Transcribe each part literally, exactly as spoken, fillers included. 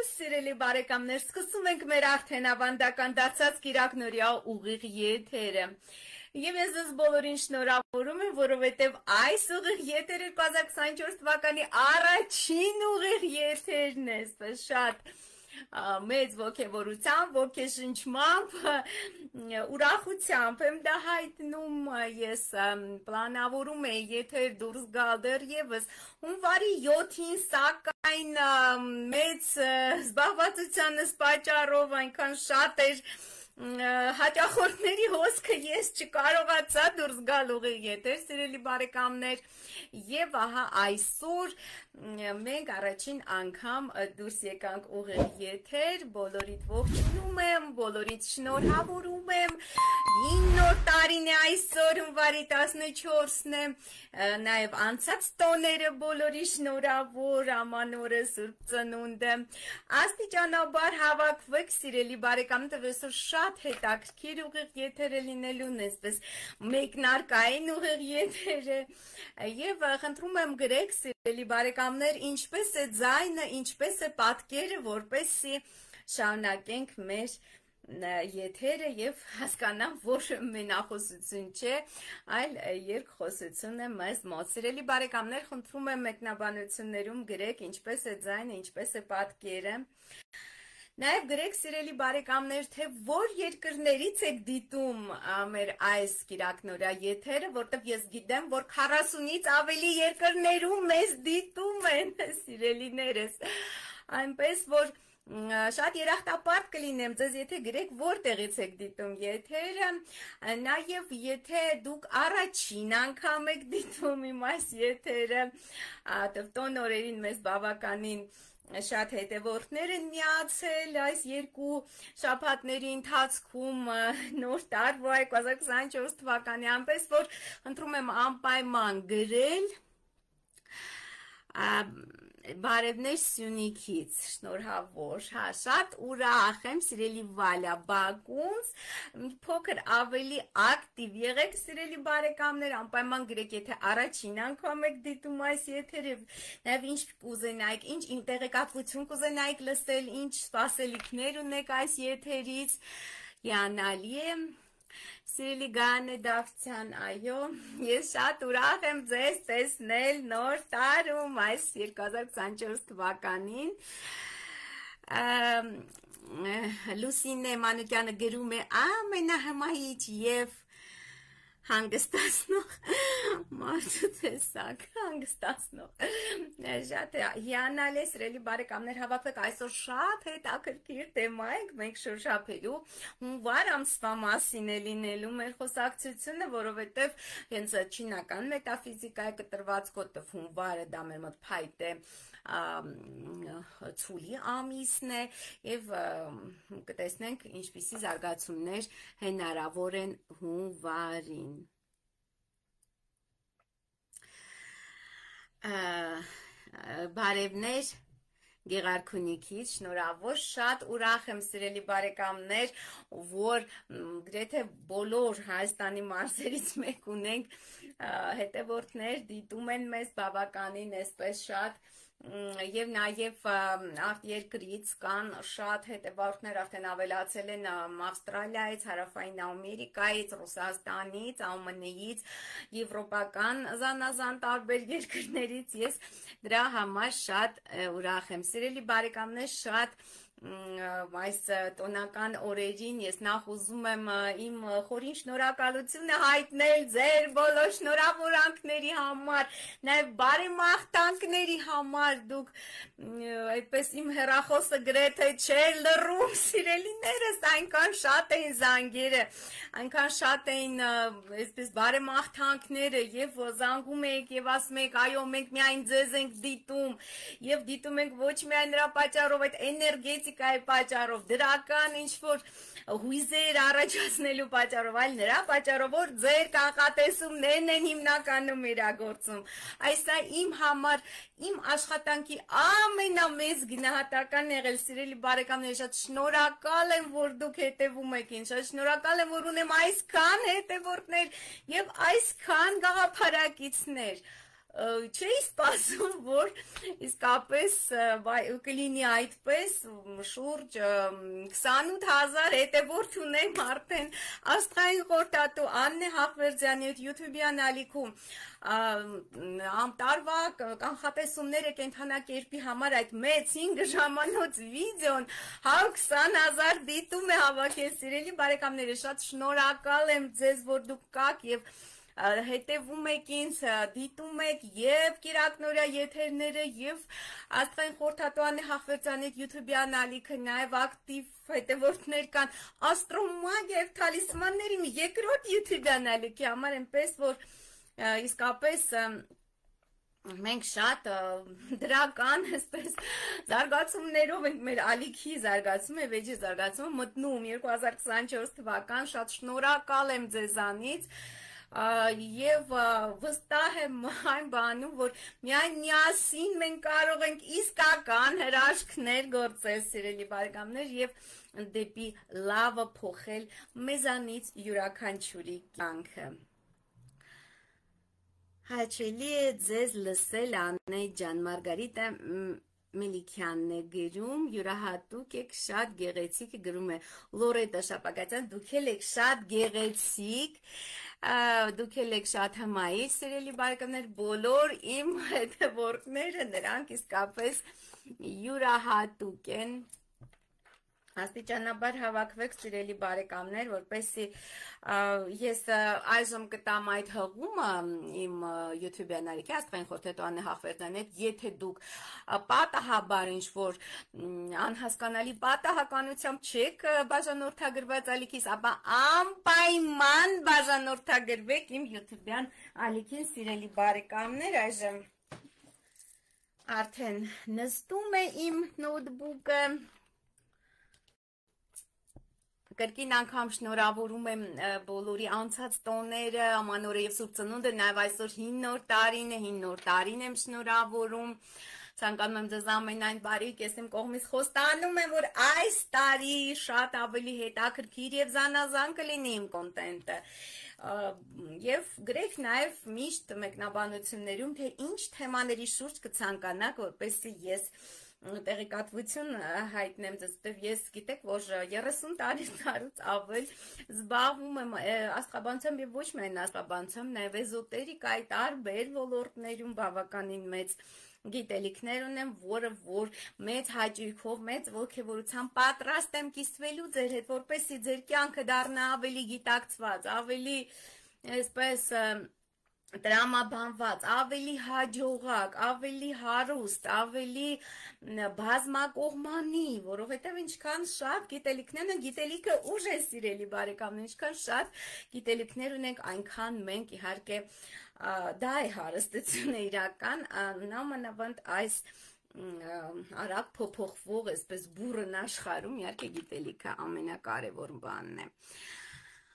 Սիրելի բարեկամներ, սկսում ենք մեր արդեն ավանդական դարձած կիրակնօրյա ուղիղ եթերը։ Եվ ես ձեզ բոլորին շնորհավորում եմ, որովհետև այս ուղիղ եթերը երկու հազար քսաներկու թվականի առաջին ուղիղ եթերն է, շատ մեծ ոգևորությամբ, ոգեշնչմամբ, ուրախությամբ եմ դա հայտնում, ես պլանավորում եմ եթեր դուրս գալ դեռևս հունվարի յոթին, սակայն մեծ զբաղվածությանս պատճառով այնքան շատ էր հաճախորդների հոսքը ես չկարողացա դուրս գալ ուղիղ եթեր, սիրելի բարեկամներ, եւ ահա այսօր մենք առաջին անգամ դուրս եկանք ուղիղ եթեր, բոլորիդ ողջունում եմ, բոլորիդ շնորհավորում եմ, նոր տարին է այսօր, հունվարի տասնչորսն է, նաեւ անցած տոները բոլորի շնորհավոր, ամանորը, Սուրբ Ծնունդը, աստիճանաբար հավաքվեք, սիրելի բարեկամներ, այսօր շատ հետաքրքիր ուղիղ եթեր է լինելուն, այսպես մեկնարկային ուղիղ եթեր է, եւ խնդրում եմ գրեք, սիրելի բարեկամներ, ինչպես է ձայնը, ինչպես է պատկերը, որպեսզի շարունակենք մեր եթերը եւ հասկանամ, որ մենախոսություն չէ, այլ երկխոսություն է մեզ մոտ։ Սիրելի բարեկամներ, խնդրում եմ մեկնաբանություններում գրեք ինչպես է ձայնը, ինչպես է պատկերը։ Նաև գրեք, սիրելի բարեկամներ, թե որ երկրներից եք դիտում մեր այս կիրակնօրյա եթերը, որտեղ ես գիտեմ, որ քառասունից ավելի երկրներում մեզ դիտում են, սիրելիներս, այնպես, որ շատ երախտապարտ կլինեմ ձեզ, եթե գրեք որտեղից եք դիտում եթերը, նաև եթե դուք առաջին անգամ եք դիտում իմ այս եթերը, տոն օրերին մեզ բավականին շատ հետևորդներ են միացել այս երկու շաբաթների ընթացքում նոր տարվա երկու հազար քսաներկու թվականի, այնպես որ խնդրում եմ անպայման գրել բարևներ Սյունիքից, շնորհավոր, հա, շատ ուրախ եմ, սիրելի Վալյա Բակունց, փոքր ավելի ակտիվ եղեք, սիրելի բարեկամներ, անպայման գրեք, եթե առաջին անգամ եք դիտում այս եթերը, նաև ինչ կուզենայիք, ինչ տեղեկատվություն կուզենայիք լսել, ինչ սպասելիքներ ունեք այս եթերից, հիանալի է։ Սիրելի Գարանե Դավթյան, այո, ես շատ ուրախ եմ ձեզ տեսնել նոր տարում այս երկու հազար քսաներկու թվականին։ Լուսինե Մանուկյանը գրում է ամենահմայիչ եւ հանգստացնող մարդու տեսակ, հանգստացնող, շատ հիանալի է, սիրելի բարեկամներ, հավաքվեք, այսօր շատ հետաքրքիր թեմա ենք մենք շոշափելու, հունվար ամսվա մասին է լինելու մեր խոսակցությունը, որովհետև հենց չինական մետաֆիզիկայի կտրված կոդով հունվարը դա մեր մոտ փայտ է ցուլի ամիսն է եւ կտեսնենք ինչպիսի զարգացումներ հնարավոր են հունվարին։ Բարևներ Գեղարքունիքից, շնորհավոր, շատ ուրախ եմ, սիրելի բարեկամներ, որ գրեթե բոլոր Հայաստանի մարզերից մեկ ունենք հետևորդներ, դիտում են մեզ բավականին այսպես շատ եւ նաեւ արտերկրից կան շատ հետևորդներ, արդեն ավելացել են Ավստրալիայից, Հարավային Ամերիկայից, Ռուսաստանից, ԱՄՆ-ից, եվրոպական զանազան տարբեր երկրներից, ես դրա համար շատ ուրախ եմ, սիրելի բարեկամներ, շատ այս տոնական օրերին ես նախ ուզում եմ իմ խորին շնորհակալությունը հայտնել ձեր բոլոր շնորհավորանքների համար, նաև բարեմաղթանքների համար, դուք այդպես իմ հեռախոսը գրեթե չէր լռում, սիրելիներս, այնքան շատ էին զանգերը, այնքան շատ էին այսպես բարեմաղթանքները եւ զանգում եք եւ ասում եք, այո, մենք միայն ձեզ ենք դիտում եւ դիտում ենք ոչ միայն նրա պատճառով, այդ էներգետիկայի պատճառով, դրական ինչ-որ հույզեր առաջացնելու պատճառով, այլ նրա պատճառով, որ ձեր կանխատեսումներն են հիմնականում իրագործում։ Այսա իմ համար, իմ աշխատանքի ամենամեծ գնահատական եղել, սիրելի բարեկամներ, շատ շնորհակալ եմ, որ դուք հետևում եք ինձ, շատ շնորհակալ եմ, որ ունեմ այսքան հետևորդներ եւ այսքան գաղափարակիցներ։ չէի սպասում, որ իսկապես կլինի այդպես շուրջ քսանութ հազար հետևորդ ունեմ արդեն աստղային խորհրդատու Աննե Հախվերդյանի YouTube-յան ալիքում ամտարվա կանխատեսումները կենթանակերպի համար այդ մեծ հինգ ժամանոց վիդեոն հարյուր քսան հազար դիտում է հավաքել, սիրելի բարեկամներ, շատ շնորհակալ եմ ձեզ, որ դուք կաք եւ հետևում եք ինձ, դիտում եք եւ Կիրակնորյա եթերները եւ Աստղային խորհրդատու Աննե Հախվերդյանի YouTube-յան ալիքը, նաեւ ակտիվ հետևորդներ կան աստրոմագիա եւ թալիսմանների մի երկրորդ YouTube-յան ալիքի համար, այնպես որ իսկապես մենք շատ դրական, այսպես զարգացումներով ենք մեր ալիքի զարգացումը, վեճի զարգացումը մտնում երկու հազար քսանչորս թվական, շատ շնորհակալ եմ ձեզանից եւ վստահ եմ այն բանում, որ միայն միասին մենք կարող ենք իսկական հրաշքներ գործել, սիրելի բարեկամներ, եւ դեպի լավը փոխել մեզանից յուրաքանչյուրի կյանքը։ Հաճելի է ձեզ լսել, Աննե ջան, Մարգարիտա Մելիքյանն է գրում, յուրահատուկ եք, շատ գեղեցիկ, գրում է Լորետա Շապակացյան, դուք եք շատ գեղեցիկ, դուք եք շատ հմայիչ, սիրելի բարեկամներ, բոլոր իմ հետևորդները, նրանք իսկապես յուրահատուկ են, աստիճանաբար հավաքվեք, սիրելի բարեկամներ, որպեսզի ես այժմ կտամ այդ հղումը իմ YouTube-յան ալիքի Աստղային խորհրդատու Աննե Հախվերդյանի հետ, եթե դուք պատահաբար ինչ-որ անհասկանալի պատահականությամբ չեք բաժանորդագրված ալիքիս, ապա անպայման բաժանորդագրվեք իմ YouTube-յան ալիքին, սիրելի բարեկամներ, այժմ արդեն նստում է իմ նոթբուկը, Կրկին անգամ շնորհավորում եմ բոլորի անցած տոները, ամանորը եւ Սուրբ Ծնունդը, նաեւ այսօր հին նոր տարին է, հին նոր տարին եմ շնորհավորում։ Ցանկանում եմ ձեզ ամենայն բարիք, ես իմ կողմից խոստանում եմ, որ այս տարի շատ ավելի հետաքրքիր եւ զանազան կլինի իմ կոնտենտը։ Եվ գրեք նաեւ միշտ մեկնաբանություններում, թե ինչ թեմաների շուրջ կցանկանաք, որպեսզի ես տեղեկատվություն հայտնեմ ձեզ, որտեվ ես գիտեք, որ երեսուն տարուց ավել զբաղվում եմ աստղաբանությամբ եւ ոչ միայն աստղաբանությամբ, նաեւ էզոտերիկայի տարբեր ոլորտներում բավականին մեծ գիտելիքներ ունեմ, որը որ մեծ հաճույքով, մեծ ոգևորությամբ պատրաստ եմ կիսվելու ձեր հետ, որպեսզի ձեր կյանքը դառնա ավելի գիտակցված, ավելի այսպես տրամաբանված, ավելի հաջողակ, ավելի հարուստ, ավելի բազմակողմանի, որովհետև ինչքան շատ գիտելիքներ են, գիտելիքը ուժ է, սիրելի բարեկամներ, ինչքան շատ գիտելիքներ ունենք, այնքան մենք իհարկե դա է հարստությունը իրական, նամանավանդ այս արագ փոփոխվող, այսպես բուրըն աշխարհում, իհարկե գիտելիքը ամենակարևոր բանն է։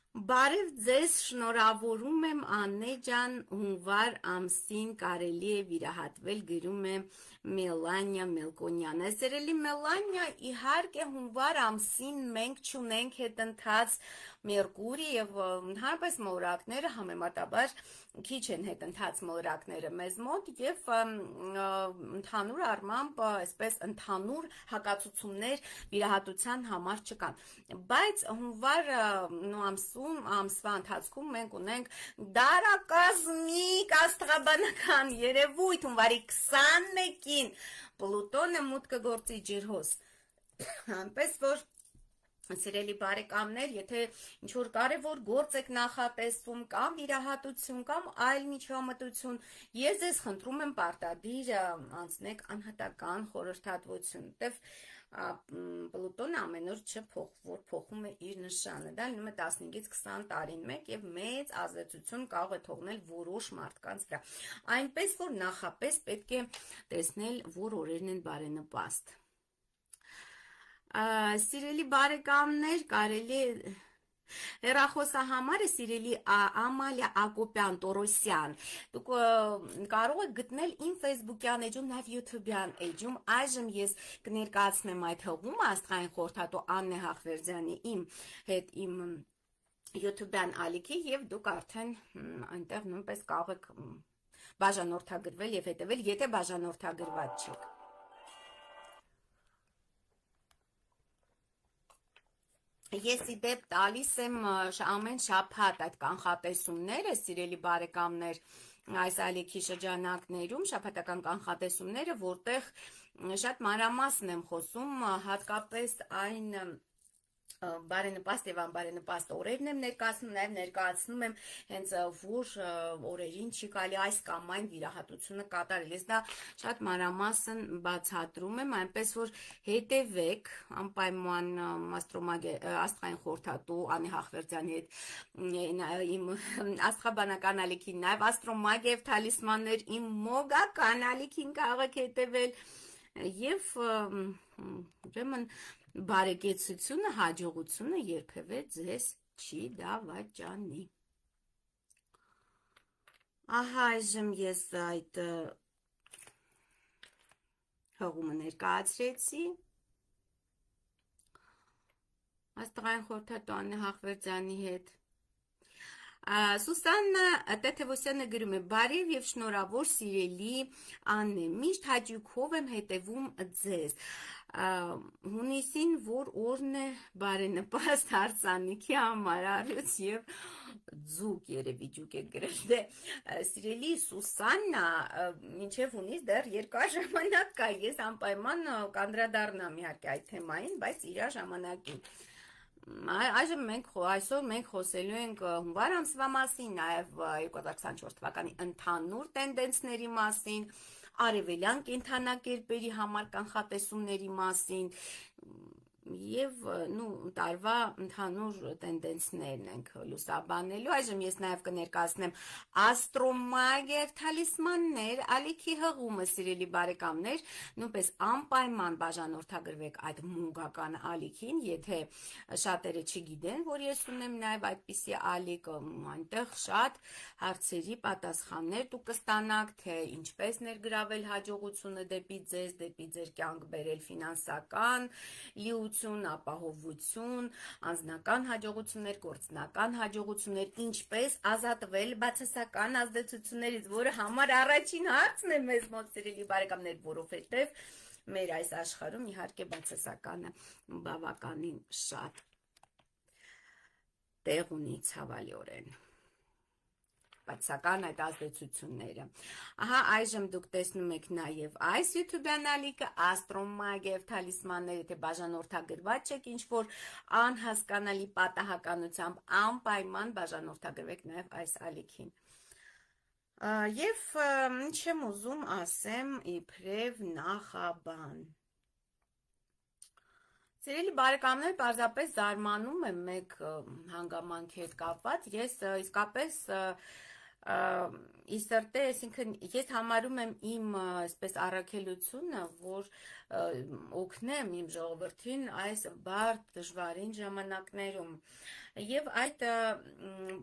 Բարև ձեզ, շնորհավորում եմ Աննե ջան, հունվար ամսին կարելի է վիրահատվել, գրում է Մելանիա Մելկոնյանը։ Սիրելի Մելանիա, իհարկե հունվար ամսին մենք չունենք հետընթաց Մերկուրի եւ հարբես մոլորակները համեմատաբար քիչ են հետընթաց մոլորակները մեզ մոտ եւ ընդհանուր առմամբ այսպես ընդհանուր հակացություններ վիրահատության համար չկան, բայց հունվար ամսում ամսվա ընթացքում մենք ունենք դարակազմիկ աստղաբանական երևույթ, հունվարի քսանմեկին Պլուտոնը մուտք կգործի ջրհոս, այնպես որ Սիրելի բարեկամներ, եթե ինչ-որ կարևոր գործ եք նախատեսվում կամ վիրահատություն կամ այլ միջամտություն, ես ձեզ խնդրում եմ պարտադիր անցնեք անհատական խորհրդատվություն, որտեվ Պլուտոնը ամեն օր չփոխվոր փոխում է իր նշանը, դա լինում է տասնհինգից քսան տարին մեկ եւ մեծ ազդեցություն կարող է թողնել որոշ մարդկանց վրա, այնպես որ նախապես պետք է տեսնել, որ օրերն են բարենպաստ։ Սիրելի բարեկամներ, կարելի է հեռախոսահամարը սիրելի Ամալիա Ակոպյան Տորոսյան, դուք կարող եք գտնել իմ Facebook-յան էջում, նաև YouTube-յան էջում, այժմ ես կներկայացնեմ այդ հղումը Աստղային խորհրդատու Աննե Հախվերդյանի իմ հետ իմ YouTube-յան ալիքի եւ դուք արդեն այնտեղ նույնպես կարող եք բաժանորդագրվել եւ հետեւել, եթե բաժանորդագրված չեք։ Ես ի դեպ տալիս եմ ամեն շաբաթ այդ կանխատեսումները, սիրելի բարեկամներ, այս ալիքի շրջանակներում շաբաթական կանխատեսումները, որտեղ շատ մանրամասն եմ խոսում, հատկապես այն բարենպաստ եւ անբարենպաստ օրերն եմ ներկայացնում, նաեւ ներկայացնում եմ հենց որ օրերին չի կարելի այս կամ այն վիրահատությունը կատարել։ Ես դա շատ մանրամասն բացատրում եմ, այնպես որ հետևեք անպայման աստղային խորհրդատու Անի Հախվերդյանի հետ իմ աստղաբանական ալիքին, նաեւ աստրոմագիա եւ թալիսմաններ իմ մոգական ալիքին կարող եք հետևել եւ ուրեմն բարեկեցությունը, հաջողությունը երբևէ ձեզ չի դավաճանի։ Ահա այժմ ես այդ հղումը ներկայացրեցի աստղային խորհրդատու Անի Հախվերդյանի հետ։ Սուսաննա Տեթևոսյանը գրում է. բարև եւ շնորհավոր սիրելի Աննե, միշտ հաճույքով եմ հետևում ձեզ։ Հունիսին որ օրն է բարենպաստ հարսանիքի համար, առյուծ եւ ձուկ, երևի ջուկ է գրել։ Դե սիրելի Սուսաննա, մինչեւ հունիս դեռ երկար ժամանակ կա, ես անպայման կանդրադառնամ իհարկե այդ թեմային, բայց իր ժամանակին։ Այժմ մենք այսօր մենք խոսելու ենք հունվար ամսվա մասին, նաև երկու հազար քսաներորդ թվականի ընդհանուր տենդենսների մասին, արևելյան կենդանակերպերի համար կանխատեսումների մասին եւ նու տարվա ընդհանուր տենդենսներն ենք լուսաբանելու։ Այժմ ես նաև կներկայացնեմ աստրոմագիա եւ թալիսմաններ ալիքի հղումը, սիրելի բարեկամներ, նույնպես անպայման բաժանորդագրվեք այդ մունգական ալիքին, եթե շատերը չգիտեն, որ ես ունեմ նաև այդպիսի ալիք, այնտեղ շատ հարցերի պատասխաններ դուք կստանաք, թե ինչպես ներգրավել հաջողությունը դեպի ձեզ, դեպի ձեր կյանք բերել ֆինանսական լիություն, ապահովություն, անձնական հաջողություններ, գործնական հաջողություններ, ինչպես ազատվել բացասական ազդեցություններից, որը համար առաջին հարցն է մեզ մոտ, սիրելի բարեկամներ, որովհետև մեր այս աշխարհում իհարկե բացասականը բավականին շատ տեղ ունի ցավալիորեն։ Բացասական այդ ազդեցությունները։ Ահա այժմ դուք տեսնում եք նաև այս YouTube-յան ալիքը աստրոմագիա եւ թալիսմաններ, եթե բաժանորդագրված չեք ինչ-որ անհասկանալի պատահականությամբ, անպայման բաժանորդագրվեք նաև այս ալիքին։ Եվ ինչ եմ ուզում ասեմ իբրև նախաբան։ Սիրելի բարեկամներ, պարզապես զարմանում եմ մեկ հանգամանքի հետ կապված, ես իսկապես իսրտե, այսինքն ես համարում եմ իմ այսպես առաքելությունը, որ օգնեմ իմ ժողովրդին այս բարդ դժվարին ժամանակներում։ Եվ այդ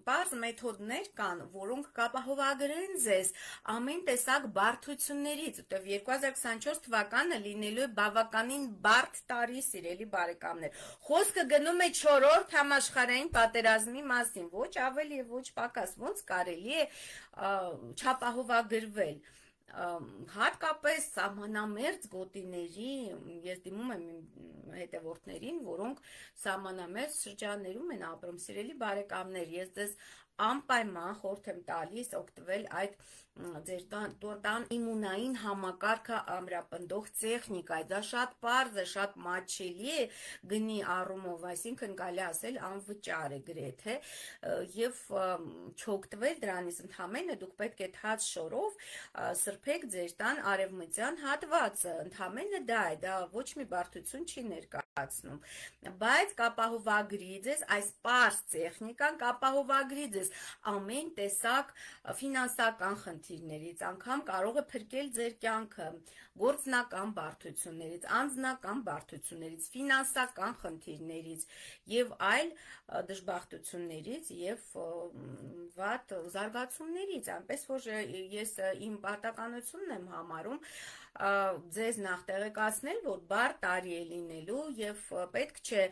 պարզ մեթոդներ կան, որոնք կապահովագրեն ձեզ ամեն տեսակ բարդություններից, որտեղ երկու հազար քսաներորդ թվականը լինելու է բավականին բարդ տարի, սիրելի բարեկամներ։ Խոսքը գնում է չորրորդ համաշխարհային պատերազմի մասին, ոչ ավելի եւ ոչ պակաս, ոնց կարելի է չապահովագրվել։ Հատկապես սահմանամերձ գոտիների, ես դիմում եմ իմ հետևորդներին, որոնք սահմանամերձ շրջաններում են ապրում, սիրելի բարեկամներ, ես ձեզ անպայման խորհուրդ եմ տալիս օգտվել այդ ձեր տան իմունային համակարգը ամրապնդող տեխնիկայից, դա շատ պարզ է, շատ մատչելի է գնի առումով, այսինքն կարելի ասել անվճար է գրեթե, եւ չօգտվել դրանից ընդհանրապես դուք պետք է թաց շորով սրբեք ձեր տան արևմտյան հատվածը, ընդհանրապես դա է, դա ոչ մի բարդություն չի ներկայացնում, բայց կապահովագրի ձեզ այս պարզ տեխնիկան, կապահովագրի ձեզ ամեն տեսակ ֆինանսական խնդիրներից, անգամ կարող է փրկել ձեր կյանքը գործնական բարդություններից, անձնական բարդություններից, ֆինանսական խնդիրներից եւ այլ դժբախտություններից եւ կապված զարգացումներից, այնպես որ ես իմ պարտականությունն եմ համարում ձեզ նախ տեղեկացնել, որ բար տարի է լինելու եւ պետք չէ,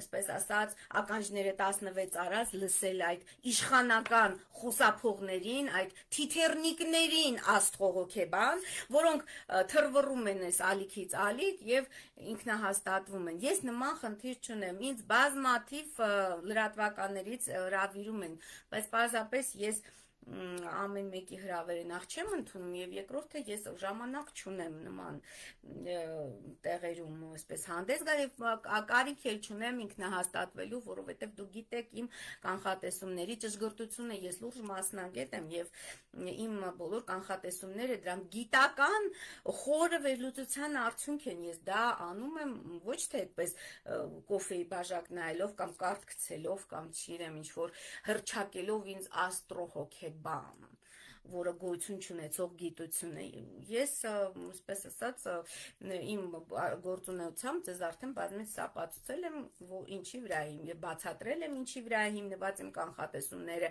այսպես ասած, ականջները տասնվեց արած լսել այդ իշխանական խոսափողներին, այդ թիթեռնիկներին աստղողոքեբան, որոնք թռվռում են այս ալիքից ալիք եւ ինքնահաստատվում են։ Ես նման խնդիր չունեմ, ինձ բազմաթիվ լրատվականներից հրավիրում են, բայց պարզապես ես ամեն մեկի հրավերը նախ չեմ ընդունում եւ երկրորդը ես ժամանակ չունեմ նման տեղերում այսպես հանդես գալ եւ կարիք էլ չունեմ ինքնահաստատվելու, որովհետեւ դուք գիտեք իմ կանխատեսումների ճշգրտությունը, ես լուրջ մասնագետ եմ եւ իմ բոլոր կանխատեսումները դրանք գիտական խորը վերլուծության արդյունք են, ես դա անում եմ ոչ թե այդպես կոֆեի բաժակ նայելով կամ կարդ գցելով կամ չիրեմ ինչ որ հրճակելով ինձ աստրոհոքե բան, որը գոյություն չունեցող գիտություն է։ Ես, այսպես ասած, իմ գործունեությամբ ձեզ արդեն բազմից ապացուցել եմ, ինչի վրա եմ եւ բացատրել եմ, ինչի վրա է հիմնված իմ կանխատեսումները։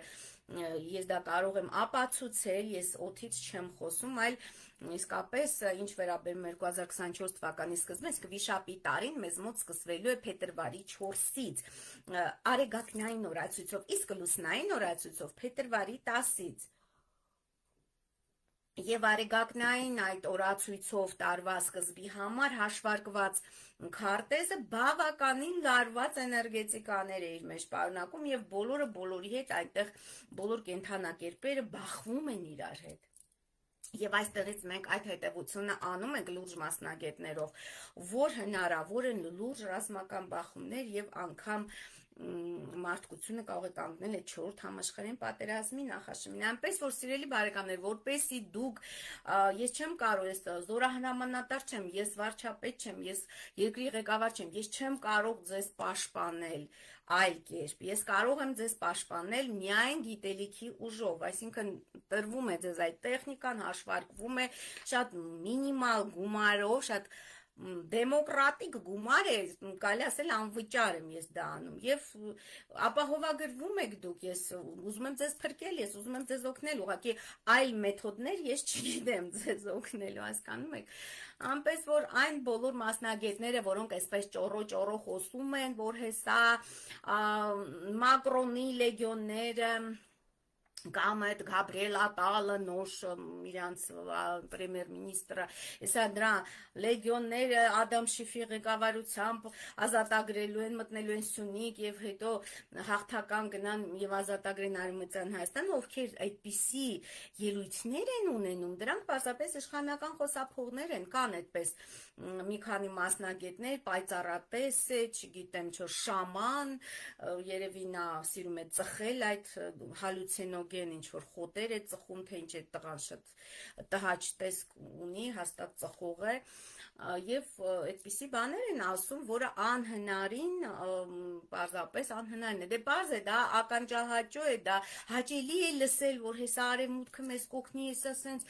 Ես դա կարող եմ ապացուցել, ես օդից չեմ խոսում, այլ իսկապես ինչ վերաբերում է երկու հազար քսանչորս թվականի սկզբին, իսկ վիշապի տարին մեզ մոտ սկսվելու է փետրվարի չորսից, արեգակնային օրացույցով, իսկ լուսնային օրացույցով փետրվարի տասից։ Եվ արեգակնային այդ օրացույցով տարվա սկզբի համար հաշվարկված քարտեզը բավականին լարված էներգետիկաներ է իր մեջ պարունակում եւ բոլորը բոլորի հետ այնտեղ բոլոր կենդանակերպերը բախվում են իրար հետ։ Եվ այստեղից մենք այդ հետևությունը անում ենք լուրջ մասնագետներով, որ հնարավոր են լուրջ ռազմական բախումներ եւ անգամ մարդկությունը կարող է կանգնել այդ չորրորդ համաշխարհային պատերազմի նախաշեմին, այնպես որ սիրելի բարեկամներ, որպեսզի դուք, ես չեմ կարող, ես զորահրամանատար չեմ, ես վարչապետ չեմ, ես երկրի ղեկավար չեմ, ես չեմ կարող ձեզ պաշտպանել այլ կերպ, ես կարող եմ ձեզ պաշտպանել միայն գիտելիքի ուժով, այսինքն տրվում է ձեզ այդ տեխնիկան, հաշվարկվում է շատ մինիմալ գումարով, շատ դեմոկրատիկ գումար է, կարելի ասել անվճար եմ ես դա անում եւ ապահովագրվում եք դուք, ես ուզում եմ ձեզ փրկել, ես ուզում եմ ձեզ օգնել, ուղղակի այլ մեթոդներ ես չգիտեմ ձեզ օգնելու, հասկանում եք, այնպես որ այն բոլոր մասնագետները, որոնք այսպես ճոռո-ճոռո խոսում են, որ հեսա Մակրոնի լեգիոնները կամ այդ Գաբրիել Ատալը նոր իրանց պրեմիեր-մինիստրը, հեսա դրա լեգիոնները Ադամ Շիֆի ղեկավարությամբ ազատագրելու են, մտնելու են Սյունիք եւ հետո հաղթական գնան եւ ազատագրեն Արևմտյան Հայաստանը, ովքեր այդպիսի ելույթներ են ունենում, դրանք պարզապես իշխանական խոսափողներ են, կան այդպես մի քանի մասնագետներ, պայծառատես է, չգիտեմ, չէ, շաման, երևի նա սիրում է ծխել այդ հալյուցինոգեն ինչ որ խոտեր է ծխում, թե ինչ է տղան շատ տհաճ տեսք ունի, հաստատ ծխող է եւ այդպիսի բաներ են ասում, որը անհնարին, պարզապես անհնարին է, դե պարզ է, դա ականջահաճո է, դա հաճելի է լսել, որ հեսա արևմուտքը մեզ կօգնի, հեսա սենց,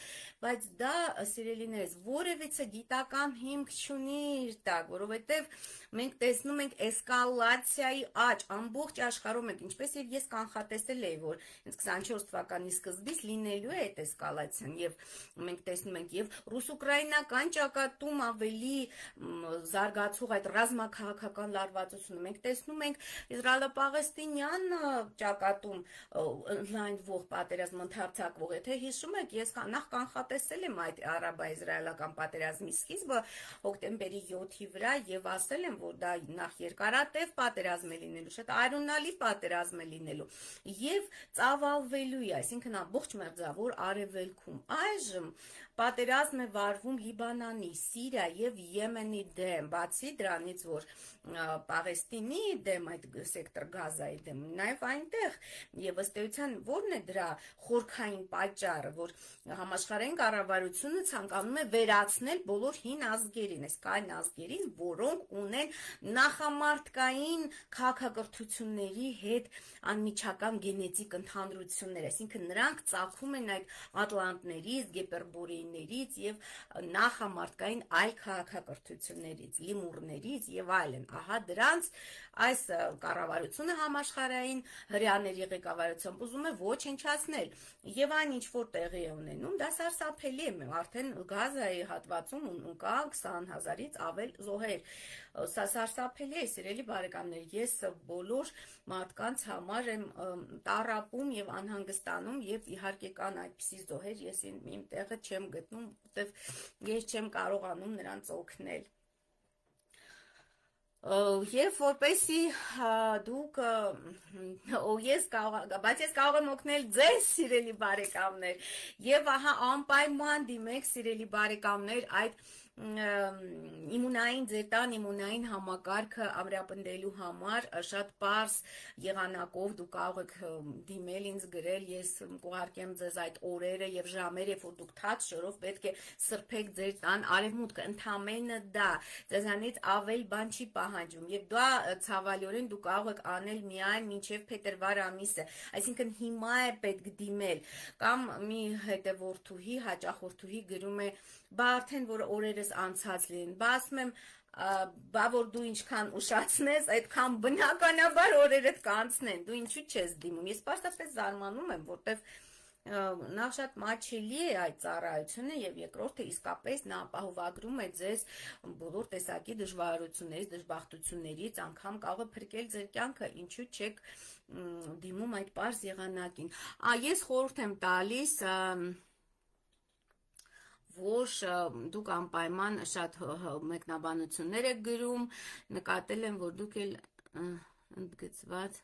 բայց դա սիրելիներս որևիցե գիտական հիմք չունի իր տակ, որովհետեւ մենք տեսնում ենք էսկալացիայի աճ ամբողջ աշխարհում ենք, ինչպես եւ ես կանխատեսել էի, որ հենց քսանչորս թվականի սկզբից լինելու է այդ էսկալացիան եւ մենք տեսնում ենք եւ ռուս-ուկրաինական ճակատում ավելի զարգացող այդ ռազմաքաղաքական լարվածությունը մենք տեսնում ենք Իսրայելо-Պաղեստինյան ճակատում ընդլայնվող պատերազմ ընդհանրացակվող, եթե հիշում եք, ես նախ կանխատեսել եմ այդ արաբա-իսրայելական պատերազմի սկիզբը հոկտեմբերի յոթի վրա եւ ասել եմ, որ դա նախ երկարատև պատերազմ է լինելու, շատ արյունալի պատերազմ է լինելու եւ ծավալվելու է, այսինքն ամբողջ մերձավոր արևելքում։ Այժմ պատերազմ է վարվում Լիբանանի, Սիրիա եւ Եմենի դեմ, բացի դրանից, որ Պաղեստինի դեմ, այդ սեկտոր Գազայի դեմ, նաեւ այնտեղ եւ ըստ էության որն է դրա խորքային պատճառը, որ համաշխարհային կառավարությունը ցանկանում է վերացնել բոլոր հին ազգերին, այս կային ազգերին, որոնք ունեն նախամարտկային քաղաքակրթությունների հետ անմիջական գենետիկ ընդհանրություն հակակրթություններ, այսինքն նրանք ծագում են այդ ատլանտներից, գեպերբորեիներից եւ նախամարտկային այլ քաղաքակրթություններից, լիմուրներից եւ այլն։ Ահա դրանց այս կառավարությունը համաշխարհային հրեաների ղեկավարությամբ ուզում է ոչնչացնել եւ այն ինչ որ տեղի է ունենում, դա սարսափելի է, արդեն Գազայի հատվածում կա քսան հազարից ավել զոհեր։ Սա սարսափելի է, սիրելի բարեկամներ, ես բոլոր մարդկանց համար եմ տառապում եւ անհանգստանում եւ իհարկե կան այդպիսի զոհեր, ես իմ տեղը չեմ գտնում, որտեվ ես չեմ կարողանում նրանց օգնել։ Եվ որպեսի դուք ես կարող, բայց ես կարող եմ օգնել ձեզ, սիրելի բարեկամներ, եւ ահա անպայման դիմեք, սիրելի բարեկամներ, այդ իմունային ձեր տան իմունային համակարգը ամրապնդելու համար շատ պարզ եղանակով դուք կարող եք դիմել ինձ գրել, ես կուղարկեմ ձեզ այդ օրերը եւ ժամերը, երբ որ դուք թաց շորով պետք է սրբեք ձեր տան արևմուտքը, ընդամենը դա ձեզանից ավել բան չի պահանջում եւ դա ցավալիորեն դուք կարող եք անել միայն մինչեւ փետրվար ամիսը, այսինքն հիմա է պետք դիմել, կամ մի հետևորդուհի, հաճախորդուհի գրում է, բա արդեն որ օրերս անցած լինեն, բա ասում եմ, բա որ դու ինչքան ուշացնես, այդքան բնականաբար օրերդ կանցնեն, դու ինչու չես դիմում, ես պարզապես զարմանում եմ, որտեվ նախ շատ մաչելի է այդ ծառայությունը եւ երկրորդը իսկապես նա ապահովագրում է ձեզ բոլոր տեսակի դժվարություններից, դժբախտություններից, անգամ կարող է փրկել ձեր կյանքը, ինչու չեք դիմում այդ պարզ եղանակին։ Ես խորհուրդ եմ տալիս որ դուք անպայման շատ մեկնաբանություններ եք գրում, նկատել եմ, որ դուք էլ ընդգծված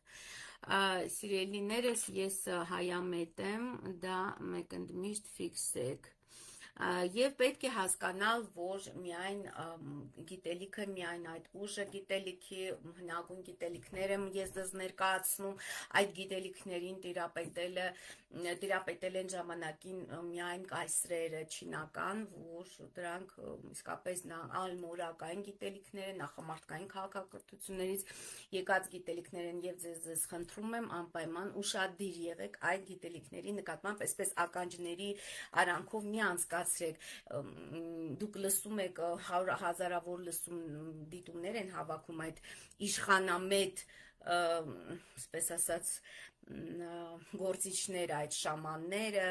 սիրելիներս, ես հայամետ եմ, դա մեկ ընդմիշտ ֆիքսեք։ Եվ պետք է հասկանալ, որ միայն գիտելիքը, միայն այդ ուժը գիտելիքի, հնագույն գիտելիքներ եմ ես ձեզ ներկայացնում, այդ գիտելիքներին տիրապետելը, տիրապետել են ժամանակին միայն կայսրերը չինական, որ դրանք իսկապես ալմորակային գիտելիքներ են, նախամարտկային քաղաքակրթություններից եկած գիտելիքներ են եւ ձեզ ձեզ խնդրում եմ անպայման ուշադիր եղեք այդ գիտելիքների նկատմամբ, այսպես ականջների արանքով մի անցկացրեք, դուք լսում եք հազարավոր լսում դիտումներ են հավաքում այդ իշխանամետ, այսպես ասած, գործիչները, այդ շամանները,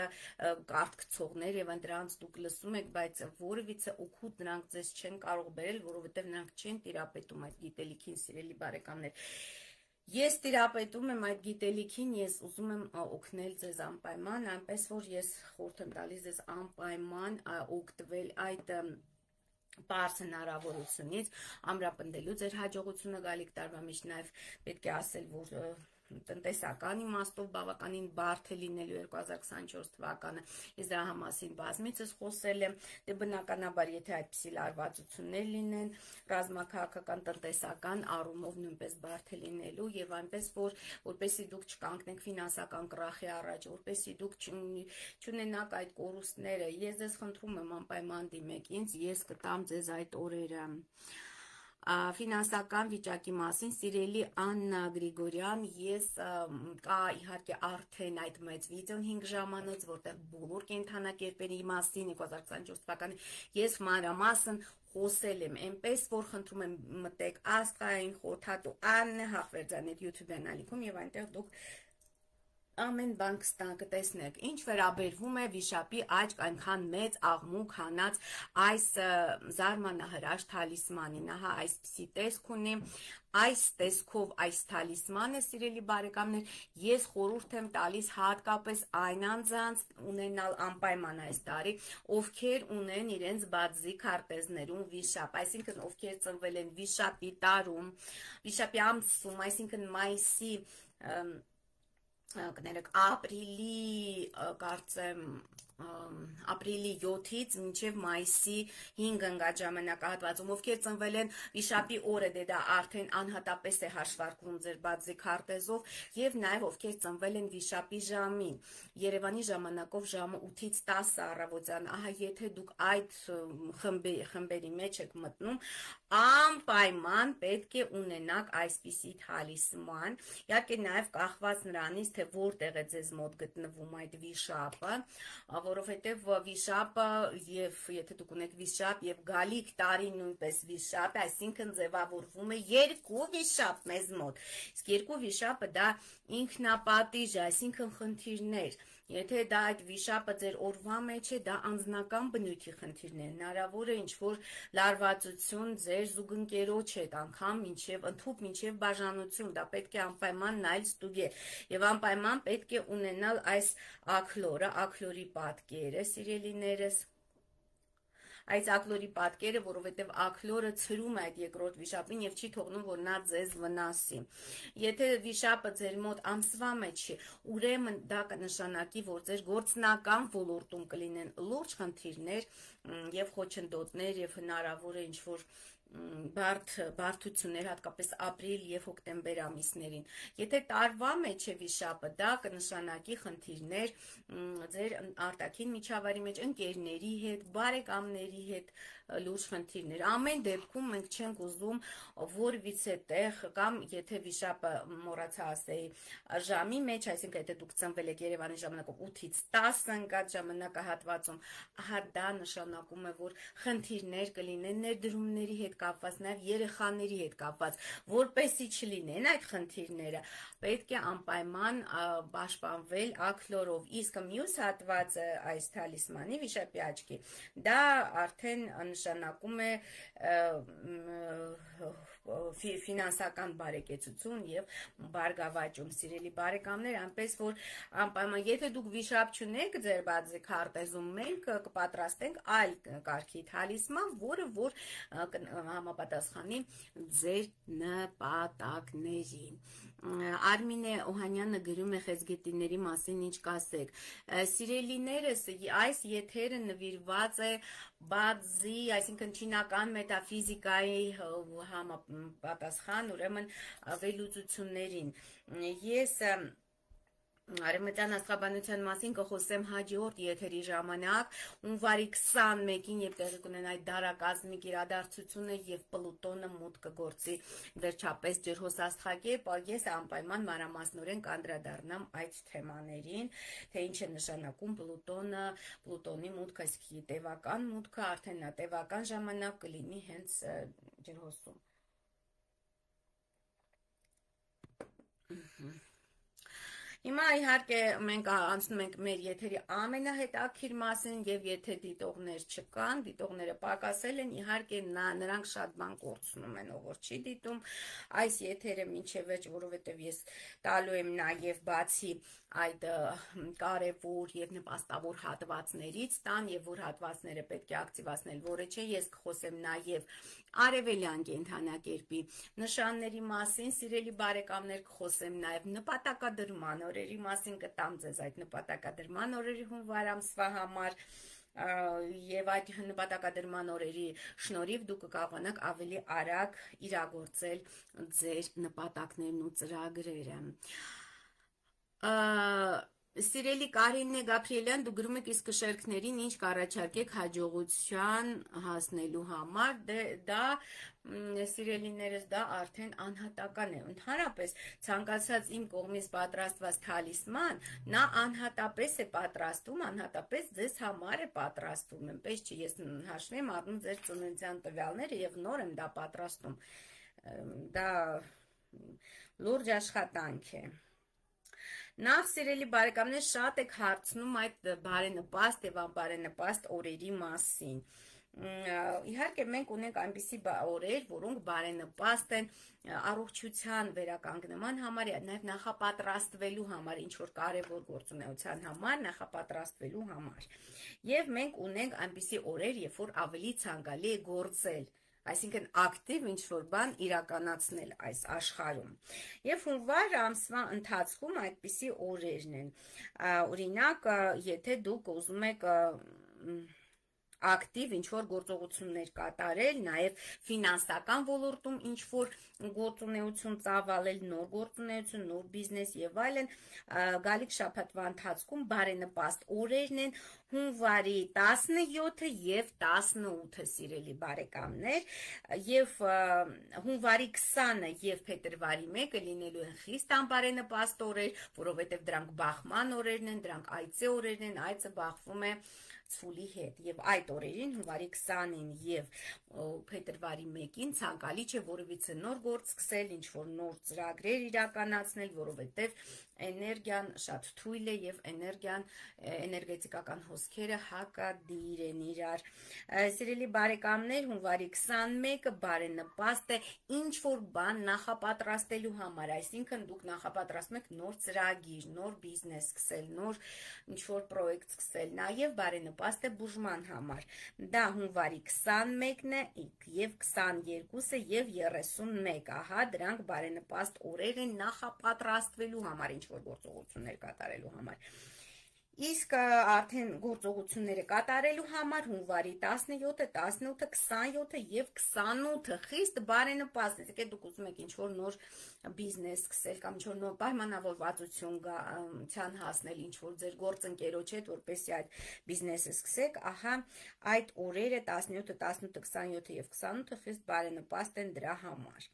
կարդքցողներ եւ դրանց դուք լսում եք, բայց որևիցե օգուտ նրանք ձեզ չեն կարող բերել, որովհետեւ նրանք չեն տիրապետում այդ գիտելիքին, սիրելի բարեկամներ։ Ես տիրապետում եմ այդ գիտելիքին, ես ուզում եմ օգնել ձեզ անպայման, այնպես որ ես խորհուրդ եմ տալիս ձեզ անպայման օգտվել այդ պարզ հնարավորությունից, ամրապնդելու ձեր հաջողությունը գալիք տարվա մեջ, նաև պետք է ասել, որ տնտեսական իմաստով բավականին բարդ է լինելու երկու հազար քսանչորս թվականը, ես դրա համասին բազմիցս խոսել եմ, դե բնականաբար եթե այդպիսի լարվածություններ լինեն, ռազմաքաղաքական տնտեսական առումով նույնպես բարդ է լինելու եւ այնպես որ որպեսզի դուք չկանգնեք ֆինանսական կրախի առաջ, որպեսզի դուք չունենաք այդ կորուստները, ես ձեզ խնդրում եմ անպայման դիմեք ինձ, ես կտամ ձեզ այդ օրերը։ Ֆինանսական վիճակի մասին, սիրելի Աննա Գրիգորյան, ես կա իհարկե արդեն այդ մեծ վիդեոն հինգ ժամանոց, որտեղ բոլոր կենդանակերպերի մասին երկու հազար քսանչորս թվականի ես մանրամասն խոսել եմ, այնպես որ խնդրում եմ մտեք աստղային խորհրդատու Աննա Հախվերդյանետ YouTube անալիքում եւ այնտեղ դուք ամեն բան կտեսնեք, ինչ վերաբերվում է վիշապի աչք այնքան մեծ աղմուկ հանած այս զարմանահրաշ թալիսմանին, ահա այսպիսի տեսք ունի, այս տեսքով այս թալիսմանը, սիրելի բարեկամներ, ես խորհուրդ եմ տալիս հատկապես այն անձանց ունենալ անպայման այս տարի, ովքեր ունեն իրենց բացի քարտեզներում վիշապ, այսինքն ովքեր ծնվել են վիշապի տարում, վիշապի ամսում, այսինքն մայիսի կներեք ապրիլի, կարծեմ, ապրիլի յոթից մինչև մայիսի հինգ ընկած ժամանակահատվածում, ովքեր ծնվել են վիշապի օրը, դե դա արդեն անհատապես է հաշվարկվում ձեր բացի քարտեզով եւ նաեւ ովքեր ծնվել են վիշապի ժամին, Երևանի ժամանակով ժամը ութից տասը առավոտյան, ահա եթե դուք այդ խմբերի մեջ եք մտնում, անպայման պետք է ունենաք այսպիսի թալիսման, իհարկե նաև կախված նրանից, թե որտեղ է ձեզ մոտ գտնվում այդ վիշապը, որովհետև վիշապը եւ եթե դուք ունեք վիշապ եւ գալիք տարի նույնպես վիշապ, այսինքն ձևավորվում է երկու վիշապ մեզ մոտ, իսկ երկու վիշապը դա ինքնապատիժ, այսինքն խնդիրներ, եթե դա այդ վիշապը ձեր օրվա մեջ է, դա անձնական բնույթի խնդիրներ, հնարավոր է ինչ-որ լարվածություն ձեր զուգընկերոջ հետ, անգամ մինչև ընդհուպ մինչև բաժանություն, դա պետք է անպայման նայել ստուգել եւ անպայման պետք է ունենալ այս աքլորը, աքլորի պատկերը, սիրելիներս, այս աքլորի պատկերը, որովհետև աքլորը ցրում է այդ երկրորդ վիշապին եւ չի թողնում, որ նա ձեզ վնասի։ Եթե վիշապը ձեր մոտ ամսվա մեջ է, ուրեմն դա կնշանակի, որ ձեր գործնական ոլորտում կլինեն լուրջ խնդիրներ եւ խոչընդոտներ եւ հնարավոր է ինչ-որ բարդ բարդություններ, հատկապես ապրիլ եւ հոկտեմբեր ամիսներին։ Եթե տարվա մեջ է վիշապը, դա կնշանակի խնդիրներ ձեր արտաքին միջավայրի մեջ, ընկերների հետ, բարեկամների հետ, լուրջ խնդիրներ։ Ամեն դեպքում մենք չենք ուզում որևիցե տեղ կամ եթե վիշապը մոռացա ասեի ժամի մեջ, այսինքն եթե դուք ծնվել եք Երևանի ժամանակով ութից տասը ընկած ժամանակահատվածում, ահա դա նշանակում է, որ խնդիրներ կլինեն ներդրումների հետ կապված, նաև երեխաների հետ կապված, որպեսի չլինեն այդ խնդիրները, պետք է անպայման պաշտպանվել աքլորով, իսկ մյուս հատվածը այս թալիսմանի վիշապի աչքի, դա արդեն նշանակում է ֆինանսական բարեկեցություն եւ բարգավաճում, սիրելի բարեկամներ, այնպես որ անպայման եթե դուք վիշապ չունեք ձեր բացի քարտեզում, մենք կպատրաստենք այլ կարգի թալիսման, որը որ համապատասխանի ձեր նպատակներին։ Արմինե Օհանյանը գրում է խեցգետիների մասին ինչ կասեք։ Սիրելիներս, այս եթերը նվիրված է բազի, այսինքն չինական մետաֆիզիկայի համապատասխան, ուրեմն վերլուծություններին։ Ես Արևմտյան աստղաբանության մասին կխոսեմ հաջորդ եթերի ժամանակ, հունվարի քսանմեկին եւ տեղի կունենա այդ դարակազմիկ իրադարձությունը եւ Պլուտոնը մուտք կգործի վերջապես ջրհոսաստղակերպ, ես անպայման մանրամասնորեն կանդրադառնամ այդ թեմաներին, թե ինչ է նշանակում Պլուտոնը, Պլուտոնի մուտքը, իսկ տևական մուտքը արդեն նա տևական ժամանակ կլինի հենց ջրհոսում։ Հիմա իհարկե մենք անցնում ենք մեր եթերի ամենահետաքրքիր մասին եւ եթե դիտողներ չկան, դիտողները պակասել են, իհարկե նրանք շատ բան կորցնում են, ով որ չի դիտում այս եթերը մինչև վերջ, որովհետեւ ես տալու եմ նաեւ բացի այդ կարևոր եւ նպաստավոր հատվածներից տան եւ որ հատվածները պետք է ակտիվացնել, որը չէ, ես կխոսեմ նաեւ արևելյան կենդանակերպի նշանների մասին, սիրելի բարեկամներ, կխոսեմ նաեւ նպատակադրման օրերի մասին, կտամ ձեզ այդ նպատակադրման օրերի հունվար ամսվա համար եւ այդ նպատակադրման օրերի շնորհիվ դուք կկարողանաք ավելի արագ իրագործել ձեր նպատակներն ու ծրագրերը։ Սիրելի Կարինե Գաբրիելյան, դու գրում եք իսկ շերքներին ինչ կառաջարկեք հաջողության հասնելու համար, դա սիրելիներս դա արդեն անհատական է, ընդհանրապես ցանկացած իմ կողմից պատրաստված թալիսման, նա անհատապես է պատրաստում, անհատապես ձեզ համար է պատրաստում, այնպես չի, ես հաշվի եմ առնում ձեր ծննդյան տվյալները եւ նոր եմ դա պատրաստում, դա լուրջ աշխատանք է։ Նախ սիրելի բարեկամներ, շատ եք հարցնում այդ բարենպաստ եւ անբարենպաստ օրերի մասին։ Իհարկե մենք ունենք այնպիսի օրեր, որոնք բարենպաստ են առողջության վերականգնման համար, նաև նախապատրաստվելու համար, ինչ որ կարևոր գործունեության համար, նախապատրաստվելու համար։ Եվ մենք ունենք այնպիսի օրեր, երբ որ ավելի ցանկալի է գործել, այսինքն ակտիվ ինչ-որ բան իրականացնել այս աշխարհում։ Եվ հունվար ամսվա ընթացքում այդպիսի օրերն են։ Օրինակ, եթե դուք ուզում եք ակտիվ ինչ-որ գործողություններ կատարել, նաև ֆինանսական ոլորտում ինչ-որ գործունեություն ծավալել, նոր գործունեություն, նոր բիզնես եւ այլն, գալիք շաբաթվա ընթացքում բարենպաստ օրերն են հունվարի տասնյոթը եւ տասնութը, սիրելի բարեկամներ, եւ հունվարի քսանը եւ փետրվարի մեկը լինելու են խիստ անբարենպաստ օրեր, որովհետեւ դրանք բախման օրերն են, դրանք այծե օրերն են, այծը բախվում է ցուլի հետ եւ այդ օրերին հունվարի քսանին եւ փետրվարի մեկին ցանկալի չէ որևիցե նոր գործ սկսել, ինչ որ նոր ծրագրեր իրականացնել, որովհետեւ էներգիան շատ թույլ է եւ էներգիան էներգետիկական հոսքերը հակադիր են իրար։ Սիրելի բարեկամներ, հունվարի քսանմեկը բարենպաստ է ինչ որ բան նախապատրաստելու համար, այսինքն դուք նախապատրաստում եք նոր ծրագիր, նոր բիզնես սկսել, նոր ինչ որ պրոյեկտ սկսել, նաեւ բարենպաստ է բուժման համար։ Դա հունվարի քսանմեկն է եւ քսաներկուսը եւ երեսունմեկը, ահա դրանք բարենպաստ օրեր են նախապատրաստվելու համար, ինչ որ գործողություններ կատարելու համար։ Իսկ արդեն գործողությունները կատարելու համար հունվարի տասնյոթը, տասնութը, քսանյոթը եւ քսանութը խիստ բարենպաստ է։ Եկեք դուք ուզում եք ինչ-որ նոր բիզնես սկսել կամ ինչ-որ նոր պայմանավորվածություն ցան հասնել ինչ-որ ձեր գործընկերոջ հետ, որպեսզի այդ բիզնեսը սկսեք, ահա այդ օրերը տասնյոթը, տասնութը, քսանյոթը եւ քսանութը խիստ բարենպաստ են դրա համար։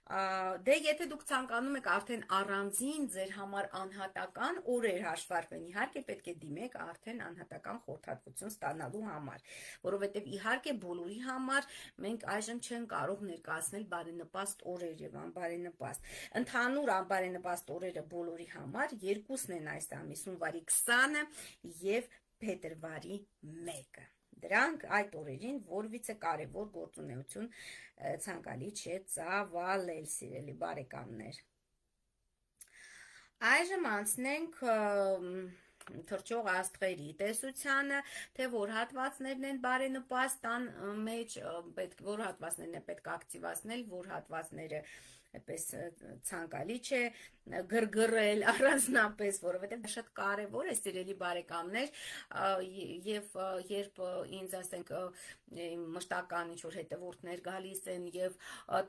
Դե եթե դուք ցանկանում եք արդեն առանձին ձեր համար անհատական օրեր հաշվարկվեն, իհարկե պետք է դիմեք արդեն անհատական խորհրդատվություն ստանալու համար, որովհետև իհարկե բոլորի համար մենք այժմ չեն կարող ներկայացնել բարենպաստ օրեր եւ անբարենպաստ։ Ընդհանուր անբարենպաստ օրերը բոլորի համար երկուսն են այս ամիս՝ հունվարի քսանը եւ փետրվարի մեկը։ Դրանք այդ օրերին որևիցե կարևոր գործունեություն ցանկալի չէ ծավալել, սիրելի բարեկամներ։ Այժմ անցնենք թռչող աստղերի տեսությանը, թե որ հատվածներն են բարենպաստան մեջ, պետք որ հատվածներն է պետք ակտիվացնել, որ հատվածները այդպես ցանկալի չէ գրգռել առանձնապես, որովհետև շատ կարևոր է, սիրելի բարեկամներ, եւ երբ ինձ ասենք մշտական ինչ-որ հետևորդներ գալիս են եւ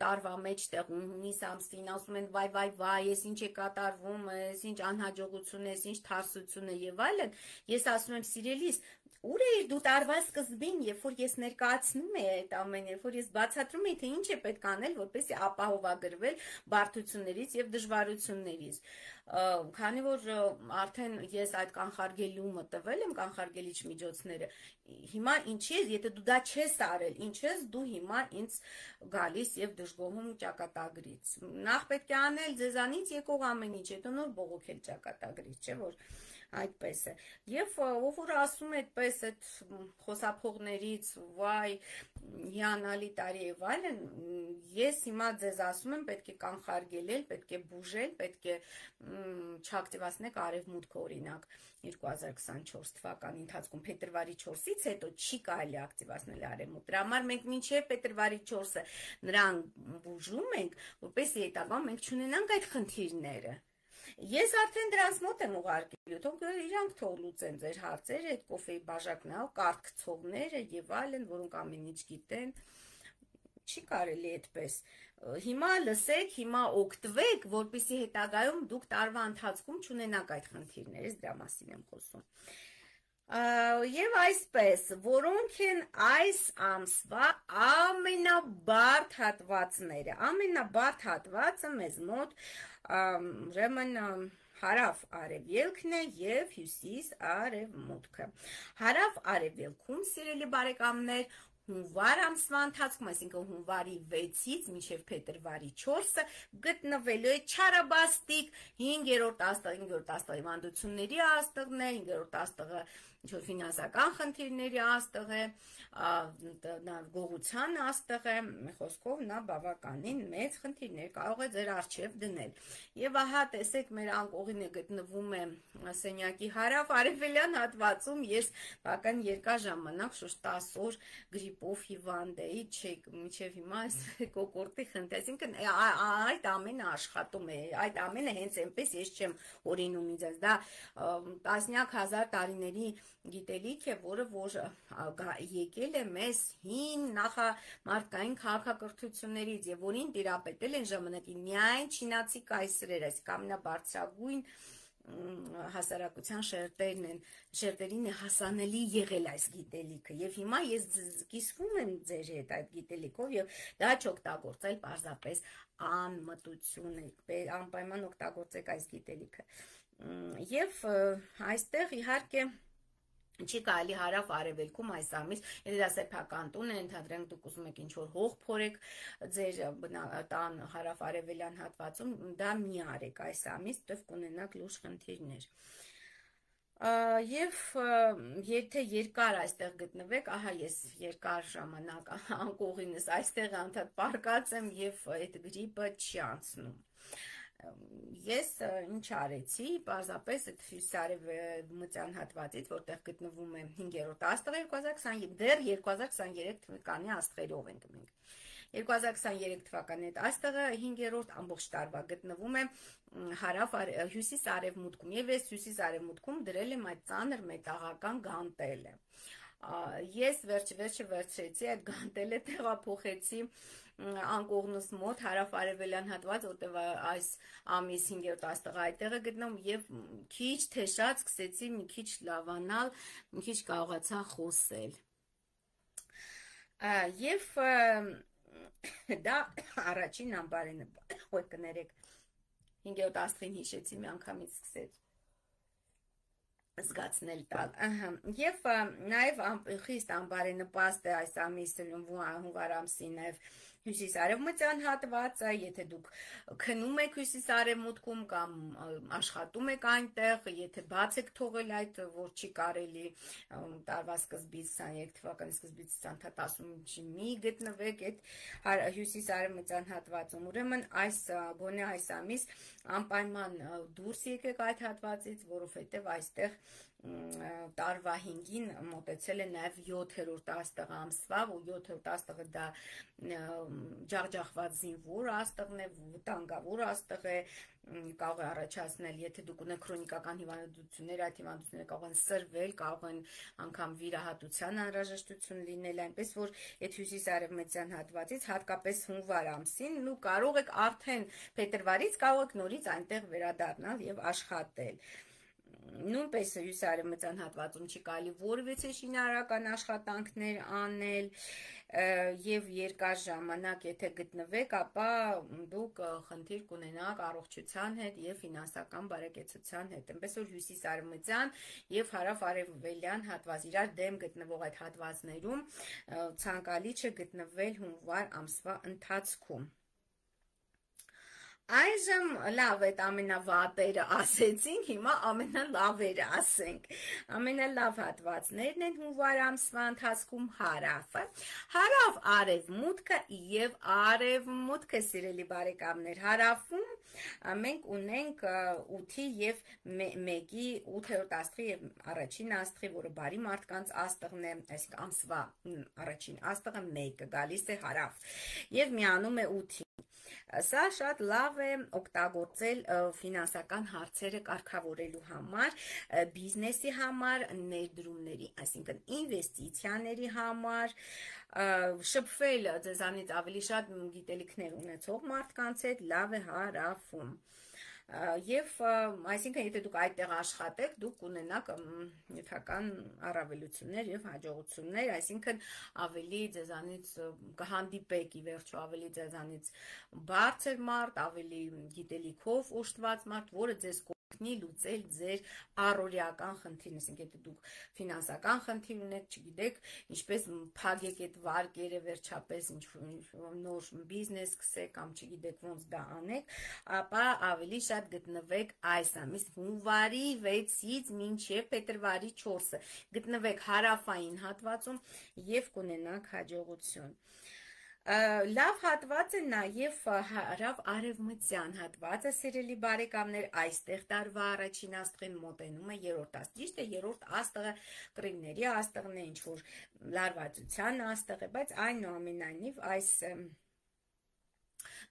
տարվա մեջտեղ հունիս ամսին ասում են վայ վայ վայ, ես ինչ է կատարվում, ես ինչ անհաջողություն է, ինչ թարսություն է եւ այլն, ես ասում եմ սիրելիս, ուր է դու տարվա սկզբին, երբ որ ես ներկայացնում եմ այդ ամենը, երբ որ ես բացատրում եմ, թե ինչ է պետք անել, որպեսզի ապահովագրվել բարդություններից եւ դժվարություններից։ Քանի որ արդեն ես այդ կանխարգելումը տվել եմ, կանխարգելիչ միջոցները, հիմա ինչի է, եթե դու դա չես արել, ինչ ես դու հիմա ինձ գալիս եւ դժգոհում ճակատագրից։ Նախ պետք է անել ձեզանից եկող ամեն ինչ, հետո նոր բողոքել ճակատագրից, չէ՞ որ այդպես է։ Եվ ով որ ասում է այդպես այդ խոսափողներից, վայ, հիանալի տարի եւ այլն, ես հիմա ձեզ ասում եմ, պետք է կանխարգելել, պետք է բուժել, պետք է չակտիվացնեք արևմուտքը, օրինակ երկու հազար քսանչորս թվականի ընթացքում փետրվարի չորսից հետո չի կարելի ակտիվացնել արևմուտք։ Դրա համար մենք մինչև փետրվարի չորսը նրան բուժում ենք, որպեսզի հետագայում մենք չունենանք այդ խնդիրները։ Ես արդեն դրանց մոտ եմ ուղարկելու, թող իրանք թող լուծեն ձեր հարցերը, այդ կոֆեի բաժակնալ, կարգցողները եւ այլն, որոնք ամեն ինչ գիտեն, չի կարելի այդպես։ Հիմա լսեք, հիմա օգտվեք, որպեսզի հետագայում դուք տարվա ընթացքում չունենաք այդ խնդիրները, դրա մասին եմ խոսում։ Եվ այսպես, որոնք են այս ամսվա ամենաբարդ հատվածները, ամենաբարդ հատվածը մեզ մոտ ուրեմն հարավ արևելքն է եւ հյուսիս արևմուտքը։ Հարավ արևելքում, սիրելի բարեկամներ, հունվար ամսվա ընթացքում, այսինքն հունվարի վեցից մինչև փետրվարի չորսը գտնվելու է չարաբաստիկ հինգերորդ աստղ, հինգերորդ աստղը հիվանդությունների աստղն է, հինգերորդ աստղը ինչ-որ ֆինանսական խնդիրների աստղ է, նա գողության աստղ է, խոսքով նա բավականին մեծ խնդիրներ կարող է ձեր առջև դնել։ Եվ ահա տեսեք, մեր անկողինը գտնվում է սենյակի հարավ արևելյան հատվածում, ես բավական երկար ժամանակ շուրջ տասը օր գրիպ գրիպով հիվանդեի, չեք, մինչև հիմա այս կոկորտի խնդրի, այսինքն այդ ամենը աշխատում է, այդ ամենը հենց այնպես ես չեմ օրինում ինձ, դա տասնյակ հազար տարիների գիտելիք է, որը որ եկել է մեզ հին նախամարդկային քաղաքակրթություններից եւ որին տիրապետել են ժամանակին միայն չինացի կայսրեր, այսինքն ամենաբարձրագույն հասարակության շերտերն են, շերտերին է հասանելի եղել այս գիտելիքը եւ հիմա ես կիսվում եմ ձեր հետ այդ գիտելիքով եւ դա չօգտագործել պարզապես անմտություն է, անպայման օգտագործեք այս գիտելիքը եւ այստեղ իհարկե չի կարելի հարավ արևելքում այս ամիս, եթե դա սեփական տուն է, ընդհանրենք դուք ուզում եք ինչ-որ հող փորեք ձեր տան հարավ արևելյան հատվածում, դա մի արեք այս ամիս, դեռ կունենաք լուրջ խնդիրներ։ Եվ եթե երկար այստեղ գտնվեք, ահա ես երկար ժամանակ անկողինս այստեղ անդադ պարկած եմ եւ այդ գրիպը չի անցնում։ Ես ինչ արեցի, պարզապես այդ հյուսիսարևմտյան հատվածից, որտեղ գտնվում է հինգերորդ աստղը երկու հազար քսաներեք, դեռ երկու հազար քսաներեք թվականի աստղերով ենք մենք։ երկու հազար քսաներեք թվականի այդ աստղը հինգերորդ ամբողջ տարվա գտնվում է հարավ հյուսիս-արևմուտքում եւ ես հյուսիս-արևմուտքում դրել եմ այդ ծանր մետաղական գանտելը։ Ես վերջ-վերջը վերցրեցի այդ գանտելը, տեղափոխեցի անկողնուս մոտ հարավ-արևելյան հատված, որտեղ այս ամիս հինգերորդ աստղը այդտեղ է գտնվում եւ քիչ թեշած սկսեցի մի քիչ լավանալ, մի քիչ կարողացա խոսել։ Եվ դա առաջին ամբարենը, ոյ կներեք, հինգերորդ աստղին հիշեցի, մի անգամից սկսեց զգացնել տալ, եւ նաեւ խիստ ամբարենպաստ է այս ամիսը հունվար ամսի նաեւ հյուսիս-արևմտյան հատվածը, եթե դուք քնում եք հյուսիս-արևմուտքում կամ աշխատում եք այնտեղ, եթե բաց եք թողել այդ, որ չի կարելի տարվա սկզբից քսաներեք թվականի սկզբից տասնութ մի գտնվեք այդ հյուսիս-արևմտյան հատվածում, ուրեմն այս գոնե այս ամիս անպայման դուրս եկեք այդ հատվածից, որովհետև այստեղ տարվա հինգին մոտեցել է նաև յոթերորդ աստղը ամսվա, ու յոթերորդ աստղը դա ջախջախված զինվոր աստղն է, վտանգավոր աստղ է, կարող է առաջացնել, եթե դուք ունեք քրոնիկական հիվանդություններ, այդ հիվանդությունները կարող են սրվել, կարող են անգամ վիրահատության անհրաժեշտություն լինել, այնպես որ այդ հյուսիս-արևմտյան հատվածից հատկապես հունվար ամսին ու կարող եք արդեն փետրվարից կարող եք նորից այնտեղ վերադառնալ եւ աշխատել։ Նույնպես հյուսիսարևմտյան հատվածում չի կարելի որևէ շինարարական աշխատանքներ անել եւ երկար ժամանակ եթե գտնվեք, ապա դուք խնդիր կունենաք առողջության հետ եւ ֆինանսական բարեկեցության հետ, այնպես որ հյուսիսարևմտյան եւ հարավ-արևելյան հատված իրար դեմ գտնվող այդ հատվածներում ցանկալի չէ գտնվել հունվար ամսվա ընթացքում։ Այժմ լավ այդ ամենավատերը ասեցինք, հիմա ամենալավերը ասենք։ Ամենալավ հատվածներն են հունվար ամսվա ընթացքում հարավը, հարավ արևմուտքը եւ արևմուտքը, սիրելի բարեկամներ, հարավում մենք ունենք ութի եւ մեկի ութերորդ աստղի եւ առաջին աստղի, որը բարի մարդկանց աստղն է, այսինքն ամսվա առաջին աստղը մեկը գալիս է հարավ եւ միանում է ութի։ Սա շատ լավ է օգտագործել ֆինանսական հարցերը կարգավորելու համար, բիզնեսի համար, ներդրումների, այսինքն ինվեստիցիաների համար, շփվել ձեզանից ավելի շատ գիտելիքներ ունեցող մարդկանց հետ լավ է հարավում։ Եվ այսինքն եթե դուք այդտեղ աշխատեք, դուք կունենաք նյութական առավելություններ եւ հաջողություններ, այսինքն ավելի ձեզանից կհանդիպեք ի վերջո ավելի ձեզանից բարձր մարդ, ավելի գիտելիքով օժտված մարդ, որը ձեզ կօգնի լուծել ձեր առօրյական խնդիրն, այսինքն եթե դուք ֆինանսական խնդիր ունեք, չգիտեք, ինչպես փակեք այդ վարկերը վերջապես ինչ-որ նոր բիզնես սկսեք կամ չգիտեք ոնց դա անեք, ապա ավելի շատ գտնվեք այս ամիս հունվարի վեցից մինչև փետրվարի չորսը գտնվեք հարավային հատվածում եւ կունենաք հաջողություն։ Լավ հատված է նաև հարավ արևմտյան հատվածը, սիրելի բարեկամներ, այստեղ տարվա առաջին աստղին մոտենում է երրորդ աստղ, ճիշտ է, երրորդ աստղը կռիվների աստղն է, ինչ-որ լարվածության աստղ է, բայց այնուամենայնիվ այս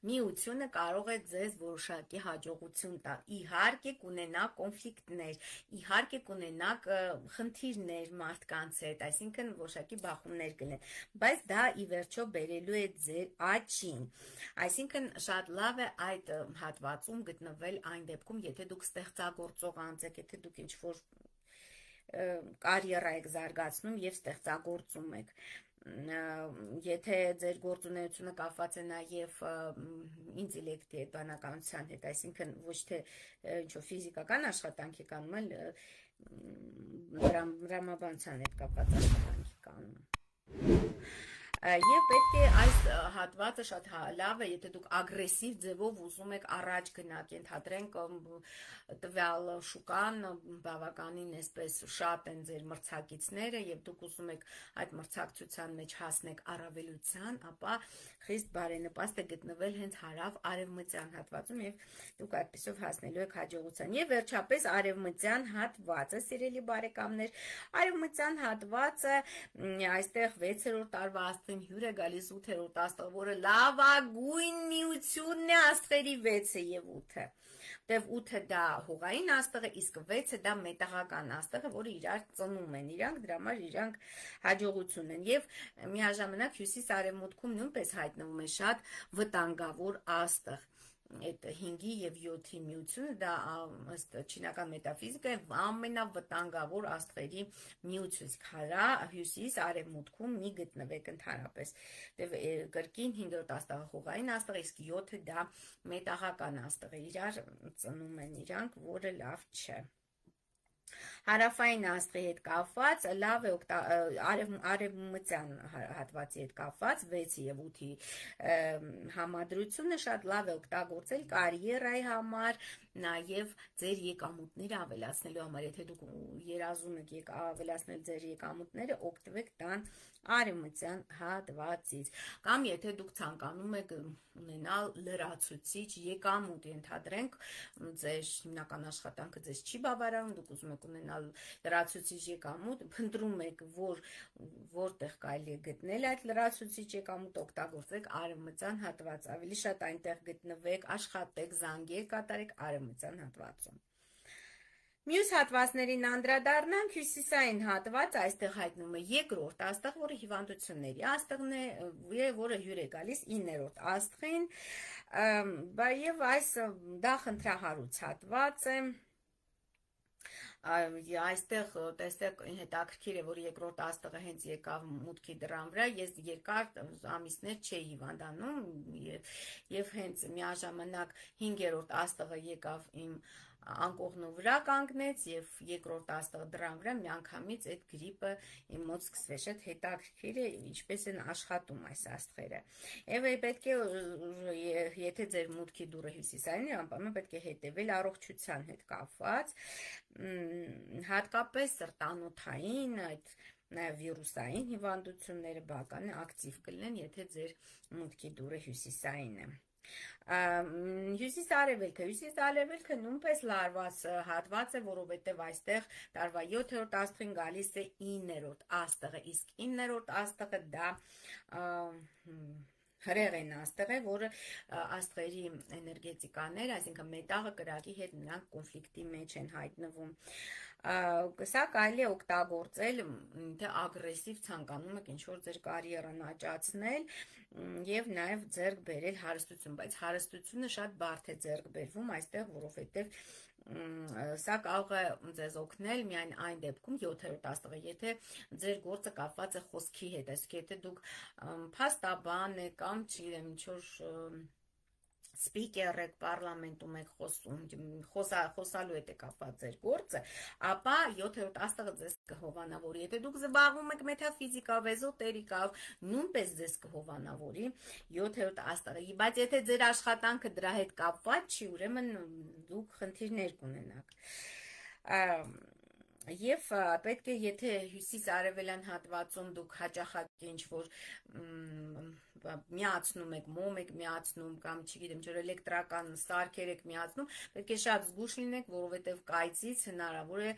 միությունը կարող է ձեզ որոշակի հաջողություն տալ, իհարկե կունենաք կոնֆլիկտներ, իհարկե կունենաք խնդիրներ մարդկանց հետ, այսինքն որոշակի բախումներ կլինեն, բայց դա ի վերջո բերելու է ձեր աճին, այսինքն շատ լավ է այդ հատվածում գտնվել այն դեպքում, եթե դուք ստեղծագործող անձ եք, եթե դուք ինչ-որ կարիերա եք զարգացնում և ստեղծագործում եք, եթե ձեր գործունեությունը կապված է նաև ինտելեկտի հետ, բանականության հետ, այսինքն ոչ թե ինչ-որ ֆիզիկական աշխատանք եք անում, այլ դրամաբանության հետ կապված աշխատանք եք անում։ Եվ պետք է այս հատվածը շատ լավ է, եթե դուք ագրեսիվ ձևով ուզում եք առաջ գնաք, ենթադրենք տվյալ շուկան բավականին այսպես շատ են ձեր մրցակիցները եւ դուք ուզում եք այդ մրցակցության մեջ հասնեք առավելության, ապա խիստ բարենպաստ է գտնվել հենց հարավ արևմտյան հատվածում եւ դուք այդպեսով հասնելու եք հաջողության։ Եվ վերջապես արևմտյան հատվածը, սիրելի բարեկամներ, արևմտյան հատվածը այստեղ վեցերորդ տարվա աստղին հյուր է գալիս ութերորդ աստղը, որը լավագույն միությունն է աստղերի վեցը եւ ութը։ Դեվ ութը դա հողային աստղը, իսկ վեցը դա մետաղական աստղը, որը իրար ծնում են իրանք, դրա համար իրանք հաջողություն են։ Եվ միաժամանակ հյուսիս-արևմուտքում նույնպես հայտնվում է շատ վտանգավոր աստղ։ Այդ հինգի և յոթի միությունը դա ըստ չինական մետաֆիզիկայի ամենավտանգավոր աստղերի միություն, քարա հյուսիս արևմուտքում մի գտնվեք ընդհանրապես։ Դե կրկին հինգերորդ աստղը հողային աստղ, իսկ յոթը դա մետաղական աստղ է, իրար ծնում են իրանք, որը լավ չէ։ Հարավային աստղի հետ կապված, լավ է արևմտյան հատվածի հետ կապված, վեցի և ութի համադրությունը շատ լավ է օգտագործել կարիերայի համար, նաև ձեր եկամուտները ավելացնելու համար, եթե դուք երազում եք ավելացնել ձեր եկամուտները, օգտվեք տան արևմտյան հատվածից, կամ եթե դուք ցանկանում եք ունենալ լրացուցիչ եկամուտ, ենթադրենք ձեր հիմնական աշխատանքը ձեզ չի բավարարում, դուք ուզում եք ունենալ լրացուցիչ եկամուտ, փնտրում եք, որ որտեղ կարելի է գտնել այդ լրացուցիչ եկամուտ, օգտագործեք արևմտյան հատված, ավելի շատ այնտեղ գտնվեք, աշխատեք, զանգեր կատարեք արևմտյան հատվածում։ Մյուս հատվածներին անդրադառնանք, հյուսիսային հատված, այստեղ հայտնվում է երկրորդ աստղ, որը հիվանդությունների աստղն է, որը հյուր է գալիս իններորդ աստղին, եւ այս դա խնդրահարույց հատված է։ Այստեղ տեսեք հետաքրքիր է, որ երկրորդ աստղը հենց եկավ մուտքի դռան վրա, ես երկար ամիսներ չէի հիվանդանում եւ հենց միաժամանակ հինգերորդ աստղը եկավ իմ անկողնու վրա կանգնեց եւ երկրորդ աստղը դռան վրա միանգամից այդ գրիպը իմ մոտ սկսվեց, շատ հետաքրքիր է ինչպես են աշխատում այս աստղերը։ Եվ պետք է եթե ձեր մուտքի դուռը հյուսիսային է, անպայման պետք է հետևել առողջության հետ կապված, հատկապես սրտանոթային, այդ նաև վիրուսային հիվանդությունները բավական ակտիվ կլինեն, եթե ձեր մուտքի դուռը հյուսիսային է։ Հյուսիս-արևելքը, հյուսիս-արևելքը նույնպես լարված հատված է, որովհետև այստեղ տարվա յոթերորդ աստղին գալիս է իններորդ աստղը, իսկ իններորդ աստղը դա հրեղեն աստղ է, որը աստղերի էներգետիկաներ, այսինքն մետաղը կրակի հետ նրանք կոնֆլիկտի մեջ են հայտնվում։ Սա կարելի է օգտագործել, թե ագրեսիվ ցանկանում եք ինչ-որ ձեր կարիերան աճացնել եւ նաեւ ձեռք բերել հարստություն, բայց հարստությունը շատ բարդ է ձեռք բերվում այստեղ, որովհետեւ սա կարող է ձեզ օգնել միայն այն դեպքում յոթերորդ աստղը, եթե ձեր գործը կապված է խոսքի հետ, այսինքն եթե դուք փաստաբան եք կամ չգիտեմ ինչ-որ սպիկեր եք, պարլամենտում եք խոսում, խոսալու հետ է կապված ձեր գործը, ապա յոթերորդ աստղը ձեզ կհովանավորի, եթե դուք զբաղվում եք մետաֆիզիկով, էզոտերիկով, նույնպես ձեզ կհովանավորի յոթերորդ աստղը, բայց եթե ձեր աշխատանքը դրա հետ կապված չի, ուրեմն դուք խնդիրներ կունենաք։ Եվ պետք է, եթե հյուսիս-արևելյան հատվածում դուք հաճախակի ինչ-որ միացնում եք, մոմ եք միացնում կամ չգիտեմ, ջր էլեկտրական սարքեր եք միացնում, պետք է շատ զգուշ լինեք, որովհետև կայծից հնարավոր է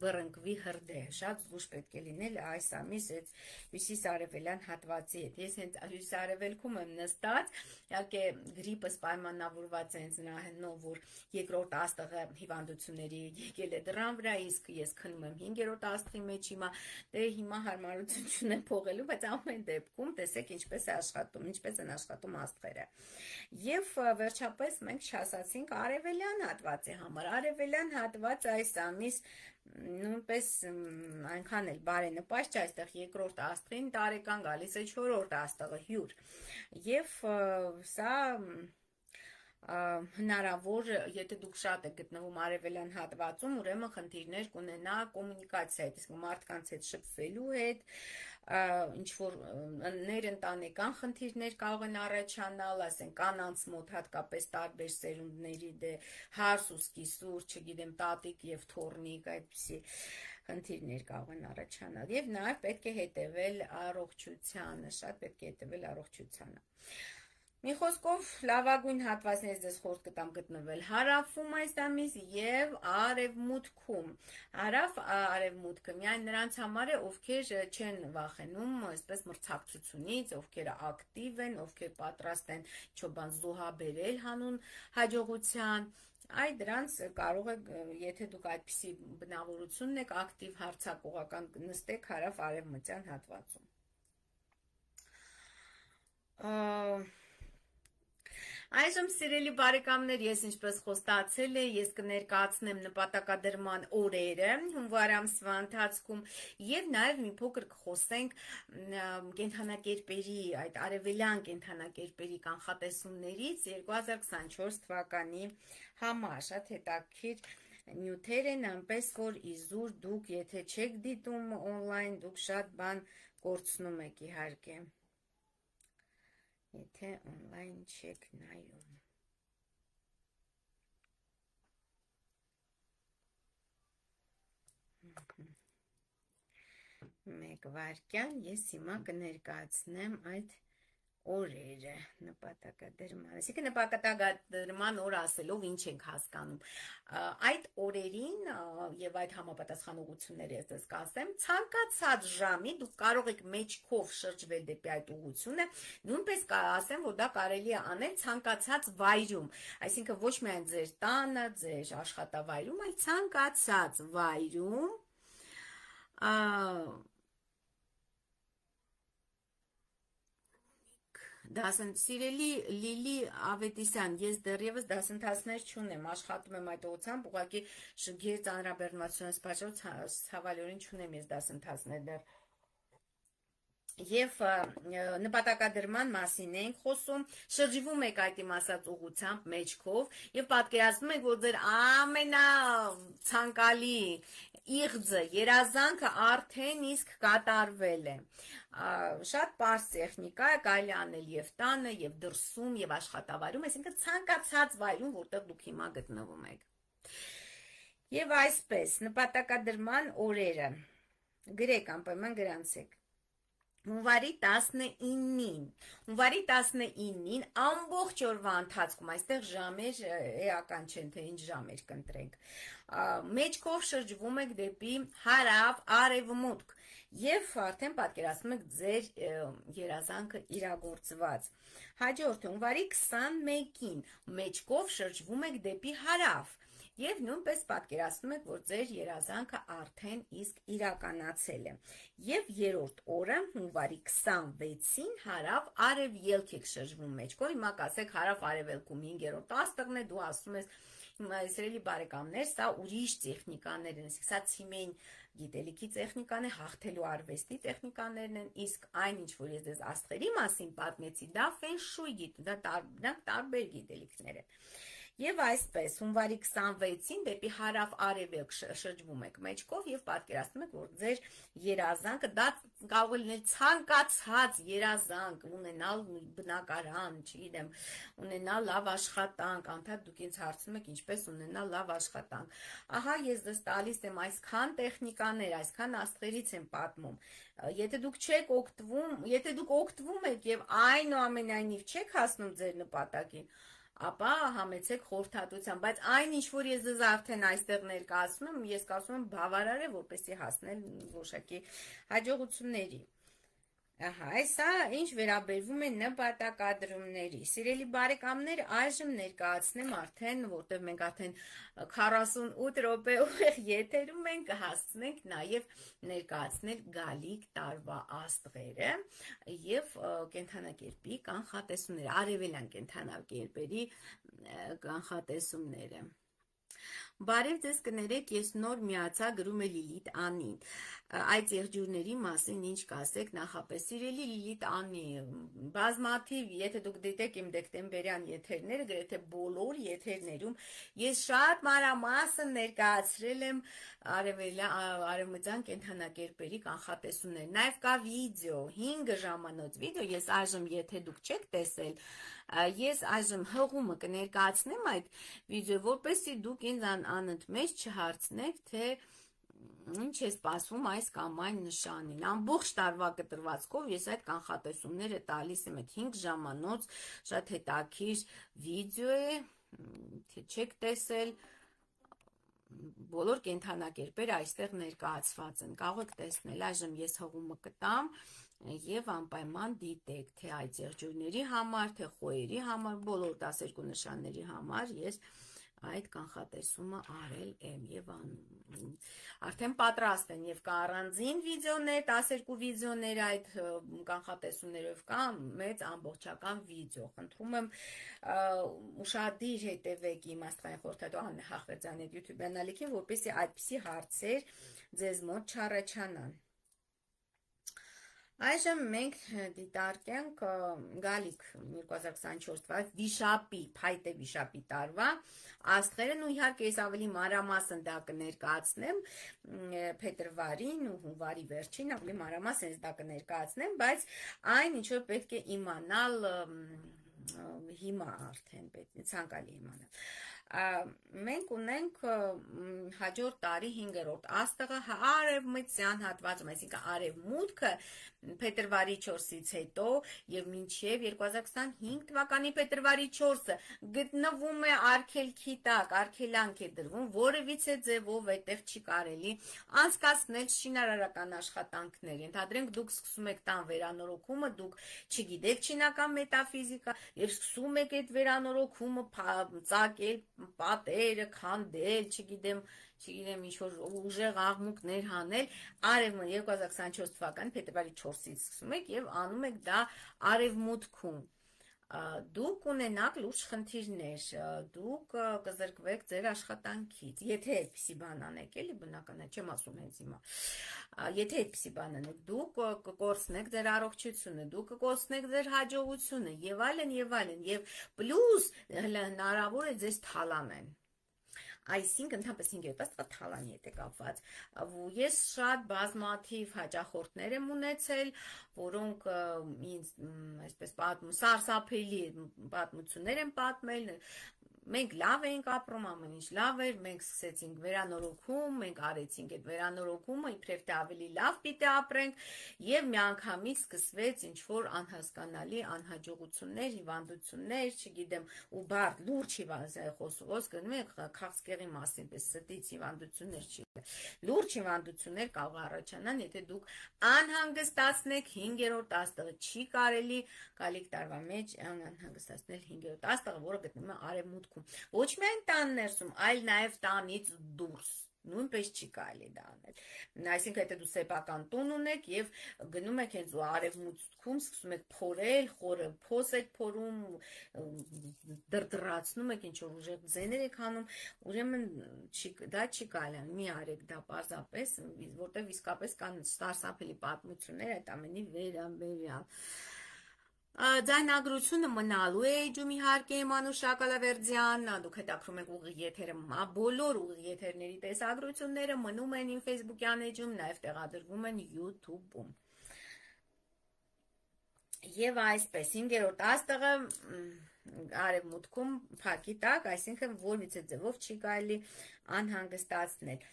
բռնկվի հրդեհ, շատ զգուշ պետք է լինել այս ամիս այդ հյուսիսարևելյան հատվածի հետ։ Ես հենց հյուսիսարևելքում եմ նստած, իհարկե գրիպս պայմանավորված է հենց նրա հետնով, որ երկրորդ աստղը հիվանդությունների եկել է դռան վրա, իսկ ես քնում եմ հինգերորդ աստղի մեջ հիմա, դե հիմա հարմարություն չունեմ փողելու, բայց ամեն դեպքում տեսեք ինչպես է աշխատում, ինչպես են աշխատում աստղերը։ Եվ վերջապես մենք չասացինք արևելյան հատվածի համար, արևելյան հատված այս ամիս նույնպես այնքան էլ բարենպաստ չէ, այստեղ երկրորդ աստղին տարեկան գալիս է չորրորդ աստղը հյուր, եւ սա հնարավոր, եթե դուք շատ եք գտնվում արևելյան հատվածում, ուրեմն խնդիրներ կունենա կոմունիկացիայից, իսկ մարդկանց հետ շփվելու հետ, ինչ որ ներընտանեկան խնդիրներ կարող են առաջանալ, ասենք կանանց մոտ հատկապես տարբեր սերունդների դե հարս ու սկիսուր, չգիտեմ, տատիկ եւ թոռնիկ, այդպիսի խնդիրներ կարող են առաջանալ, եւ նաեւ պետք է հետեւել առողջությանը, շատ պետք է հետեւել առողջությանը։ Մի խոսքով լավագույն հատվածներից ես խորտ կտամ գտնվել հարավում այս ամիս եւ արևմուտքում։ Հարավ արևմուտքը միայն նրանց համար է, ովքեր չեն վախենում այսպես մրցակցությունից, ովքեր ակտիվ են, ովքեր պատրաստ են ինչ-որ զոհաբերել հանուն հաջողության։ Այ դրանց կարող եք, եթե դուք այդպիսի բնավորություն եք, ակտիվ հարցակողական նստեք հարավ արևմտյան հատվածում։ Այժմ սիրելի բարեկամներ, ես ինչպես խոստացել եմ, ես կներկայացնեմ նպատակադրման օրերը հունվար ամսվա ընթացքում եւ նաեւ մի փոքր կխոսենք կենդանակերպերի, այդ արևելյան կենդանակերպերի կանխատեսումներից երկու հազար քսանչորս թվականի համար, շատ հետաքրքիր նյութեր են, այնպես որ իզուր դուք եթե չեք դիտում on-line, դուք շատ բան կորցնում եք իհարկե։ Եթե on-line չեք նայում։ Մեկ վայրկյան, ես հիմա կներկայացնեմ այդ օրերը նպատակադրման, այսինքն նպատակադրման օր ասելով ինչ ենք հասկանում։ Այդ օրերին եւ այդ համապատասխանողությունները ես դες կասեմ, ցանկացած ժամի դուք կարող եք մեջքով շրջվել դեպի այդ ուղղությունը, նույնպես ասեմ, որ դա կարելի է անել ցանկացած վայրում, այսինքն ոչ միայն ձեր տանը, ձեր աշխատավայրում, այլ ցանկացած վայրում Դասն սիրելի Լիլի Ավետիսյան, ես դեռևս դասընթացներ չունեմ, աշխատում եմ այդ ուղղությամբ, ուղղակի շգեր ծանրաբեռնվածությունից պատճառով ցավալիորեն չունեմ ես դասընթացներ դեռ։ Եվ նպատակադրման մասին ենք խոսում, շրջվում եք այդ իմ ասած ուղղությամբ մեջքով եւ պատկերացնում եք, որ ձեր ամենացանկալի իղձը, երազանքը արդեն իսկ կատարվել է։ Շատ պարզ տեխնիկա է, կարելի անել եւ տանը, եւ դրսում, եւ աշխատավայրում, այսինքն ցանկացած վայրում, որտեղ դուք հիմա գտնվում եք։ Եվ այսպես, նպատակադրման օրերը գրեք, անպայման գրանցեք։ Հունվարի տասնինին, հունվարի տասնինին ամբողջ օրվա ընթացքում, այստեղ ժամեր էական չեն, թե ինչ ժամեր կընտրենք, մեջքով շրջվում եք դեպի հարավ արևմուտք եւ արդեն պատկերացնում եք ձեր երազանքը իրագործված։ Հաջորդ հունվարի քսանմեկին մեջքով շրջվում եք դեպի հարավ եւ նույնպես պատկերացնում եք, որ ձեր երազանքը արդեն իսկ իրականացել է։ Եվ երրորդ օրը հունվարի քսանվեցին հարավ արևելք եք շրջվում մեջքով, հիմա կասեք հարավ արևելքում հինգերորդ աստղն է, դու ասում ես սիրելի բարեկամներ, սա ուրիշ տեխնիկաներ են, սա ցիմեն գիտելիքի տեխնիկան է, հաղթելու արվեստի տեխնիկաներն են, իսկ այն ինչ որ ես դες աստղերի մասին պատմեցի, դա ֆեն շույ գիտ, դա դրանք տարբեր գիտելիքներ են։ Եվ այսպես, հունվարի քսանվեցին դեպի հարավ արևելք շրջվում եք մեջքով եւ պատկերացնում եք, որ ձեր երազանքը դա կարող է լինել ցանկացած երազանք, ունենալ բնակարան, չգիտեմ, ունենալ լավ աշխատանք, անդադ դուք ինձ հարցնում եք ինչպես ունենալ լավ աշխատանք։ Ահա ես դες տալիս եմ այսքան տեխնիկաներ, այսքան աստղերից եմ պատմում։ Եթե դուք չեք օգտվում, եթե դուք օգտվում եք եւ այնուամենայնիվ չեք հասնում ձեր նպատակին, ապա համեցեք խորհրդատվության, բայց այն ինչ որ ես ձեզ արդեն այստեղ ներկայացնում եմ, ես կարծում եմ բավարար է, որպեսզի հասնել որոշակի հաջողությունների։ Ահա, այսա ինչ վերաբերվում է նպատակադրումների։ Սիրելի բարեկամներ, այժմ ներկայացնեմ արդեն, որտեղ մենք արդեն քառասունութ րոպե ուղիղ եթերում ենք, կհասցնենք նաև ներկայացնել գալիք տարվա աստղերը եւ կենդանակերպի կանխատեսումները, արևելյան կենդանակերպերի կանխատեսումները։ Բարև ձեզ կներեք, ես նոր միացա, գրում է Լիլիթ Անին, այդ եղջյուրների մասին ինչ կասեք նախապես, սիրելի Լիլիթ Անի, բազմաթիվ, եթե դուք դիտեք իմ դեկտեմբերյան եթերները, գրեթե բոլոր եթերներում, ես շատ մանրամասն ներկայացրել եմ արևմտյան կենդանակերպերի կանխատեսումներ, նաև կա վիդեո, հինգ ժամանոց վիդեո, ես այժմ եթե դուք չեք տեսել, ես այժմ հղումը կներկայացնեմ այդ վիդեո, որպեսզի դուք ինձ անընդմեջ չհարցնեք, թե ինչ է սպասվում այս կամ այն նշանին։ Ամբողջ տարվա կտրվածքով ես այդ կանխատեսումները տալիս եմ, այդ հինգ ժամանոց շատ հետաքրքիր վիդեո է, թե չեք տեսել, բոլոր կենդանակերպերը այստեղ ներկայացված են, կարող եք տեսնել, այժմ ես հղումը կտամ եւ անպայման դիտեք, թե այդ եղջյուրների համար, թե խոյերի համար, բոլոր տասներկու նշանների համար ես այդ կանխատեսումը արել եմ եւ արդեն պատրաստ են եւ կա առանձին վիդեոներ, տասներկու վիդեոներ այդ կանխատեսումներով, կա մեծ ամբողջական վիդեո։ Խնդրում եմ ուշադիր հետևեք իմ աստղային խորհրդատու Աննա Հախվերդյանի YouTube-յան ալիքին, որպեսզի այդպիսի հարցեր ձեզ մոտ չառաջանան։ Այժմ մենք դիտարկենք գալիք երկու հազար քսանչորս թվականի վիշապի, փայտե վիշապի տարվա աստղերն ու իհարկե ես ավելի մանրամասն դա կներկայացնեմ փետրվարին ու հունվարի վերջին, ավելի մանրամասն դա կներկայացնեմ, բայց այն ինչ որ պետք է իմանալ հիմա արդեն պետք է ցանկալի իմանալ։ Մենք ունենք հաջորդ տարի հինգերորդ աստղը արևմտյան հատվածում, այսինքն արևմուտքը փետրվարի չորսից հետո եւ մինչեւ երկու հազար քսանհինգ թվականի փետրվարի չորսը գտնվում է արգելքի տակ, արգելանք է դրվում, որևիցե ձևով այդտեղ չի կարելի անցկացնել շինարարական աշխատանքներ։ Ենթադրենք դուք սկսում եք տան վերանորոգումը, դուք չգիտեք չինական մետաֆիզիկա եւ սկսում եք այդ վերանորոգումը ծակել, պատերը, քանդել, չգիտեմ, չգիտեմ ինչ-որ ուժեղ աղմուկներ հանել, արևմուտք երկու հազար քսանչորս թվականի փետրվարի չորսից սկսում եք եւ անում եք դա արևմուտքում։ Դուք ունենաք լուրջ խնդիրներ, դուք կզրկվեք ձեր աշխատանքից, եթե այդպիսի բան անեք, էլի բնական է, չեմ ասում հենց հիմա, եթե այդպիսի բան անեք, դուք կկորցնեք ձեր առողջությունը, դուք կկորցնեք ձեր հաջողությունը եւ այլն եւ այլն, եւ պլյուս հնարավոր է ձեզ թալանեն։ Այսինքն ընդհանրապես հինգերորդ աստղը թալանի հետ է կապված։ Ես շատ բազմաթիվ հաճախորդներ եմ ունեցել, որոնք ինձ այսպես պատմում, սարսափելի պատմություններ են պատմել, մենք լավ էինք ապրում, ամեն ինչ լավ էր, մենք սկսեցինք վերանորոգում, մենք արեցինք այդ վերանորոգումը, իբրև թե ավելի լավ պիտի ապրենք, եւ միանգամից սկսվեց ինչ-որ անհասկանալի անհաջողություններ, հիվանդություններ, չգիտեմ, ու բարդ լուրջ հիվանդություններ, գնում եք քաղցկեղի մասին, պես ստից հիվանդություններ չի։ Լուրջ հիվանդություններ կարող առաջանան, եթե դուք անհանգստացնեք հինգերորդ աստղը, չի կարելի գալիք տարվա մեջ անհանգստացնել հինգերորդ աստղը, որը գտնվում է արևմուտքում։ Ոչ միայն տան ներսում, այլ նաև տանից դուրս, նույնպես չի կարելի դա անել։ Այսինքն, եթե դու սեփական տուն ունեք եւ գնում եք հենց արևմուտքում, սկսում եք փորել, խորը փոս եք փորում, դրդրացնում եք, ինչ որ ուժեղ ձեներ եք անում, ուրեմն դա չի կարելի, մի արեք դա պարզապես, որտեղ իսկապես կան սարսափելի պատմություններ այդ ամենի վերաբերյալ։ Ձայնագրությունը մնալու է էջում իհարկե Մանուշ Շակալավերդյան, դուք հետաքրում եք ուղիղ եթերը, բոլոր ուղիղ եթերների տեսագրությունները մնում են իմ Facebook-յան էջում, նաև տեղադրվում են YouTube-ում։ Եվ այսպես, հինգերորդ աստղը արևմուտքում փակի տակ, այսինքն որևիցե ձևով չի կարելի անհանգստացնել։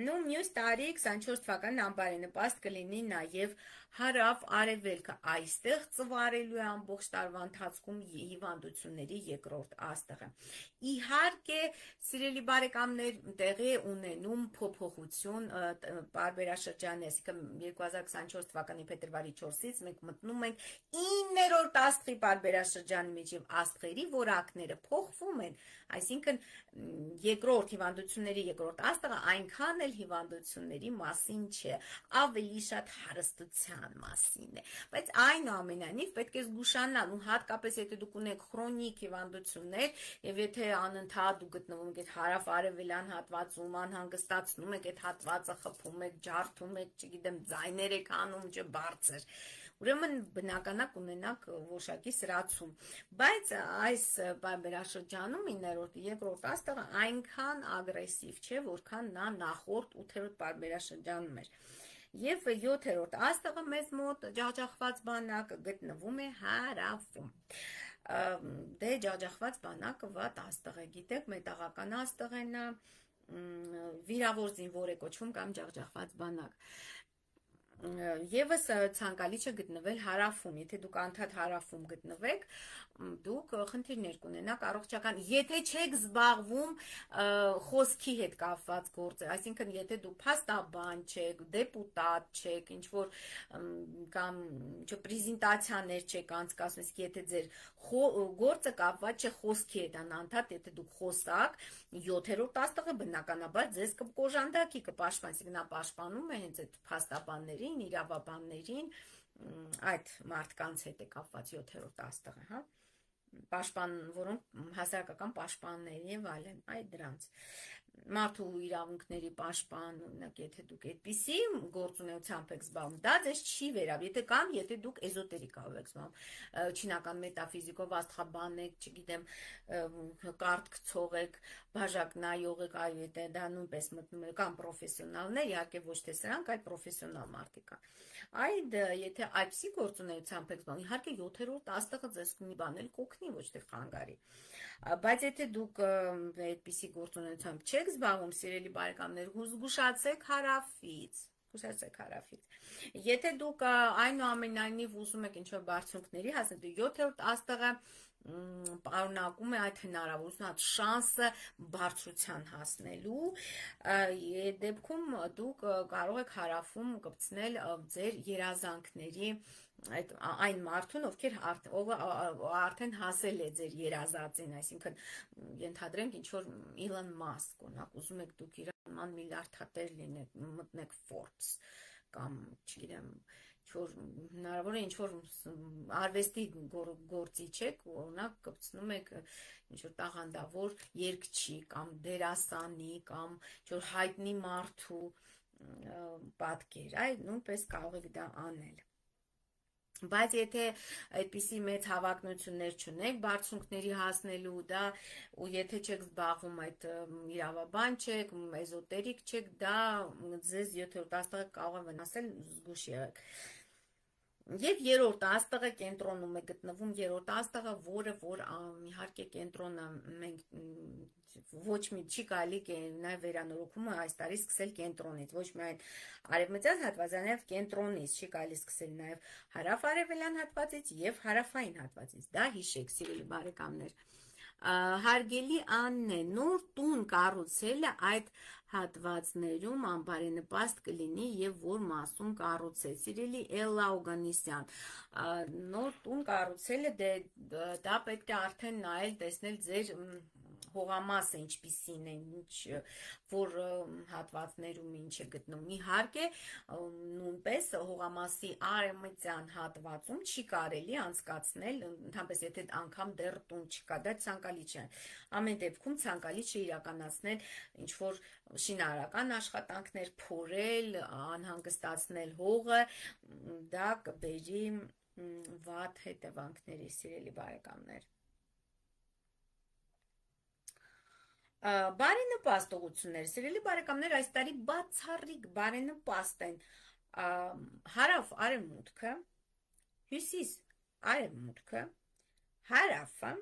Նու մյուս տարի քսանչորս թվականին անբարենպաստ կլինի նաև հարավ արևելքը, այստեղ ծվարելու է ամբողջ տարվա ընթացքում հիվանդությունների երկրորդ աստղը։ Իհարկե, սիրելի բարեկամներ, տեղի է ունենում փոփոխություն պարբերաշրջանի, այսինքն երկու հազար քսանչորս թվականի փետրվարի չորսից մենք մտնում ենք իններորդ աստղի պարբերաշրջանի մեջ եւ աստղերի որակները փոխվում են, այսինքն երկրորդ հիվանդությունների երկրորդ աստղը այնքան էլ հիվանդությունների մասին չէ, ավելի շատ հարստության մասին է, բայց այնուամենայնիվ պետք է զգուշանալ, ու հատկապես եթե դուք ունեք քրոնիկ հիվանդություններ եւ եթե անընդհատ դուք գտնվում եք հարավ-արևելյան հատվածում, անհանգստացնում եք այդ հատվածը, խփում եք, ջարդում եք, չգիտեմ, ձայներ եք անում, չէ, բարձր, ուրեմն բնականակ ունենաք որոշակի սրացում, բայց այս պարբերաշրջանում իններորդ երկրորդ աստղը այնքան ագրեսիվ չէ, որքան նա նախորդ ութերորդ պարբերաշրջանում էր։ Եվ յոթերորդ աստղը մեզ մոտ ջախջախված բանակը գտնվում է հարավում։ Դե ջախջախված բանակը վատ աստղ է, գիտեք, մետաղական աստղ է նա, վիրավոր զինվոր է կոչվում կամ ջախջախված բանակ։ Եվս ցանկալի չէ գտնվել հարավում, եթե դուք անդադ հարավում գտնվեք, դուք խնդիրներ կունենաք առողջական, եթե չեք զբաղվում խոսքի հետ կապված գործեր, այսինքն եթե դուք փաստաբան չեք, դեպուտատ չեք, ինչ որ կամ պրեզենտացիաներ չեք անցկացնում, իսկ եթե ձեր գործը կապված չէ խոսքի հետ, անընդհատ եթե դուք խոսակ, յոթերորդ աստղը բնականաբար ձեզ կկոժանդակի, կպաշտպանի, այսինքն նա պաշտպանում է հենց այդ փաստաբաններին, իրավաբաններին, այդ մարդկանց հետ է կապված յոթերորդ աստղը, հա, պաշտպան, որոնք հասարակական պաշտպաններ եւ այլն, այդ դրանց մարդու իրավունքների պաշտպան, օրինակ, եթե դուք այդպիսի գործունեությամբ եք զբաղվում, դա ձեզ չի վերաբերում, եթե կամ եթե դուք էզոտերիկայով եք զբաղվում, չինական մետաֆիզիկով աստղաբան եք, չգիտեմ, կարդ գցող եք, բաժակ նայող եք, այո, եթե դա նույնպես մտնում եք, կամ պրոֆեսիոնալներ, իհարկե ոչ թե սրանք, այլ պրոֆեսիոնալ մարդիկ կան։ Այդ եթե այդպիսի գործունեությամբ եք զբաղվում, իհարկե յոթերորդ աստղը ձեզ կունի բանել կօգնի, ոչ թե խանգարի։ Բայց եթե դուք այդպիսի գործունեությամբ չեք զբաղվում, սիրելի բարեկամներ, զգուշացեք հարավից, զգուշացեք հարավից։ Եթե դուք այնուամենայնիվ ուզում եք ինչ-որ բարձունքների հասնել, յոթերորդ աստղը պարունակում է այդ հնարավորությունը, այդ շանսը բարձրության հասնելու, այդ դեպքում դուք կարող եք հարավում կպցնել ձեր երազանքների այդ այն մարդուն, ովքեր արդեն հասել է ձեր երազածին, այսինքն ենթադրենք ինչ որ Իլոն Մասկ, օրինակ, ուզում եք դուք իր նման միլիարդատեր լինեք, մտնեք Forbes կամ, չգիտեմ, ինչ-որ հնարավոր է ինչ-որ արվեստի գործիչ եք, օրինակ կպցնում եք ինչ-որ տաղանդավոր երգչի կամ դերասանի կամ ինչ-որ հայտնի մարդու պատկեր, այ նույնպես կարող եք դա անել։ Բայց եթե այդպիսի մեծ հավակնություններ չունեք բարձունքների հասնելու, դա ու եթե չեք զբաղվում այդ իրավաբան չեք, էզոտերիկ չեք, դա ձեզ յոթերորդ աստղը կարող է վնասել, զգուշ եղեք։ Եվ երրորդ աստղը կենտրոնում է գտնվում, երրորդ աստղը, որը որ իհարկե կենտրոնը մենք ոչ մի չի կարելի նաև վերանորոգումը այս տարի սկսել կենտրոնից, ոչ միայն արևմտյան հատվածից, նաև կենտրոնից չի կարելի սկսել նաև հարավ-արևելյան հատվածից եւ հարավային հատվածից։ Դա հիշեք, սիրելի բարեկամներ։ Հարգելի Աննե, նոր տուն կառուցելը այդ հատվածներում անբարենպաստ կլինի եւ որ մասում կառուցել։ Սիրելի Էլլա Օգանիսյան, նոր տուն կառուցելը դա պետք է արդեն նայել, տեսնել ձեր հողամասը ինչպիսին է, ինչ որ հատվածներում ինչ է գտնվում։ Իհարկե, նույնպես հողամասի արևմտյան հատվածում չի կարելի անցկացնել, ընդհանրապես եթե անգամ դեռ տուն չկա, դա ցանկալի չէ։ Ամեն դեպքում ցանկալի չէ իրականացնել ինչ որ շինարարական աշխատանքներ, փորել, անհանգստացնել հողը, դա կբերի վատ հետևանքների, սիրելի բարեկամներ։ Բարենպաստ ուղղություններ, սիրելի բարեկամներ, այս տարի բացառիկ բարենպաստ են հարավ արևմուտքը, հյուսիս արևմուտքը, հարավը,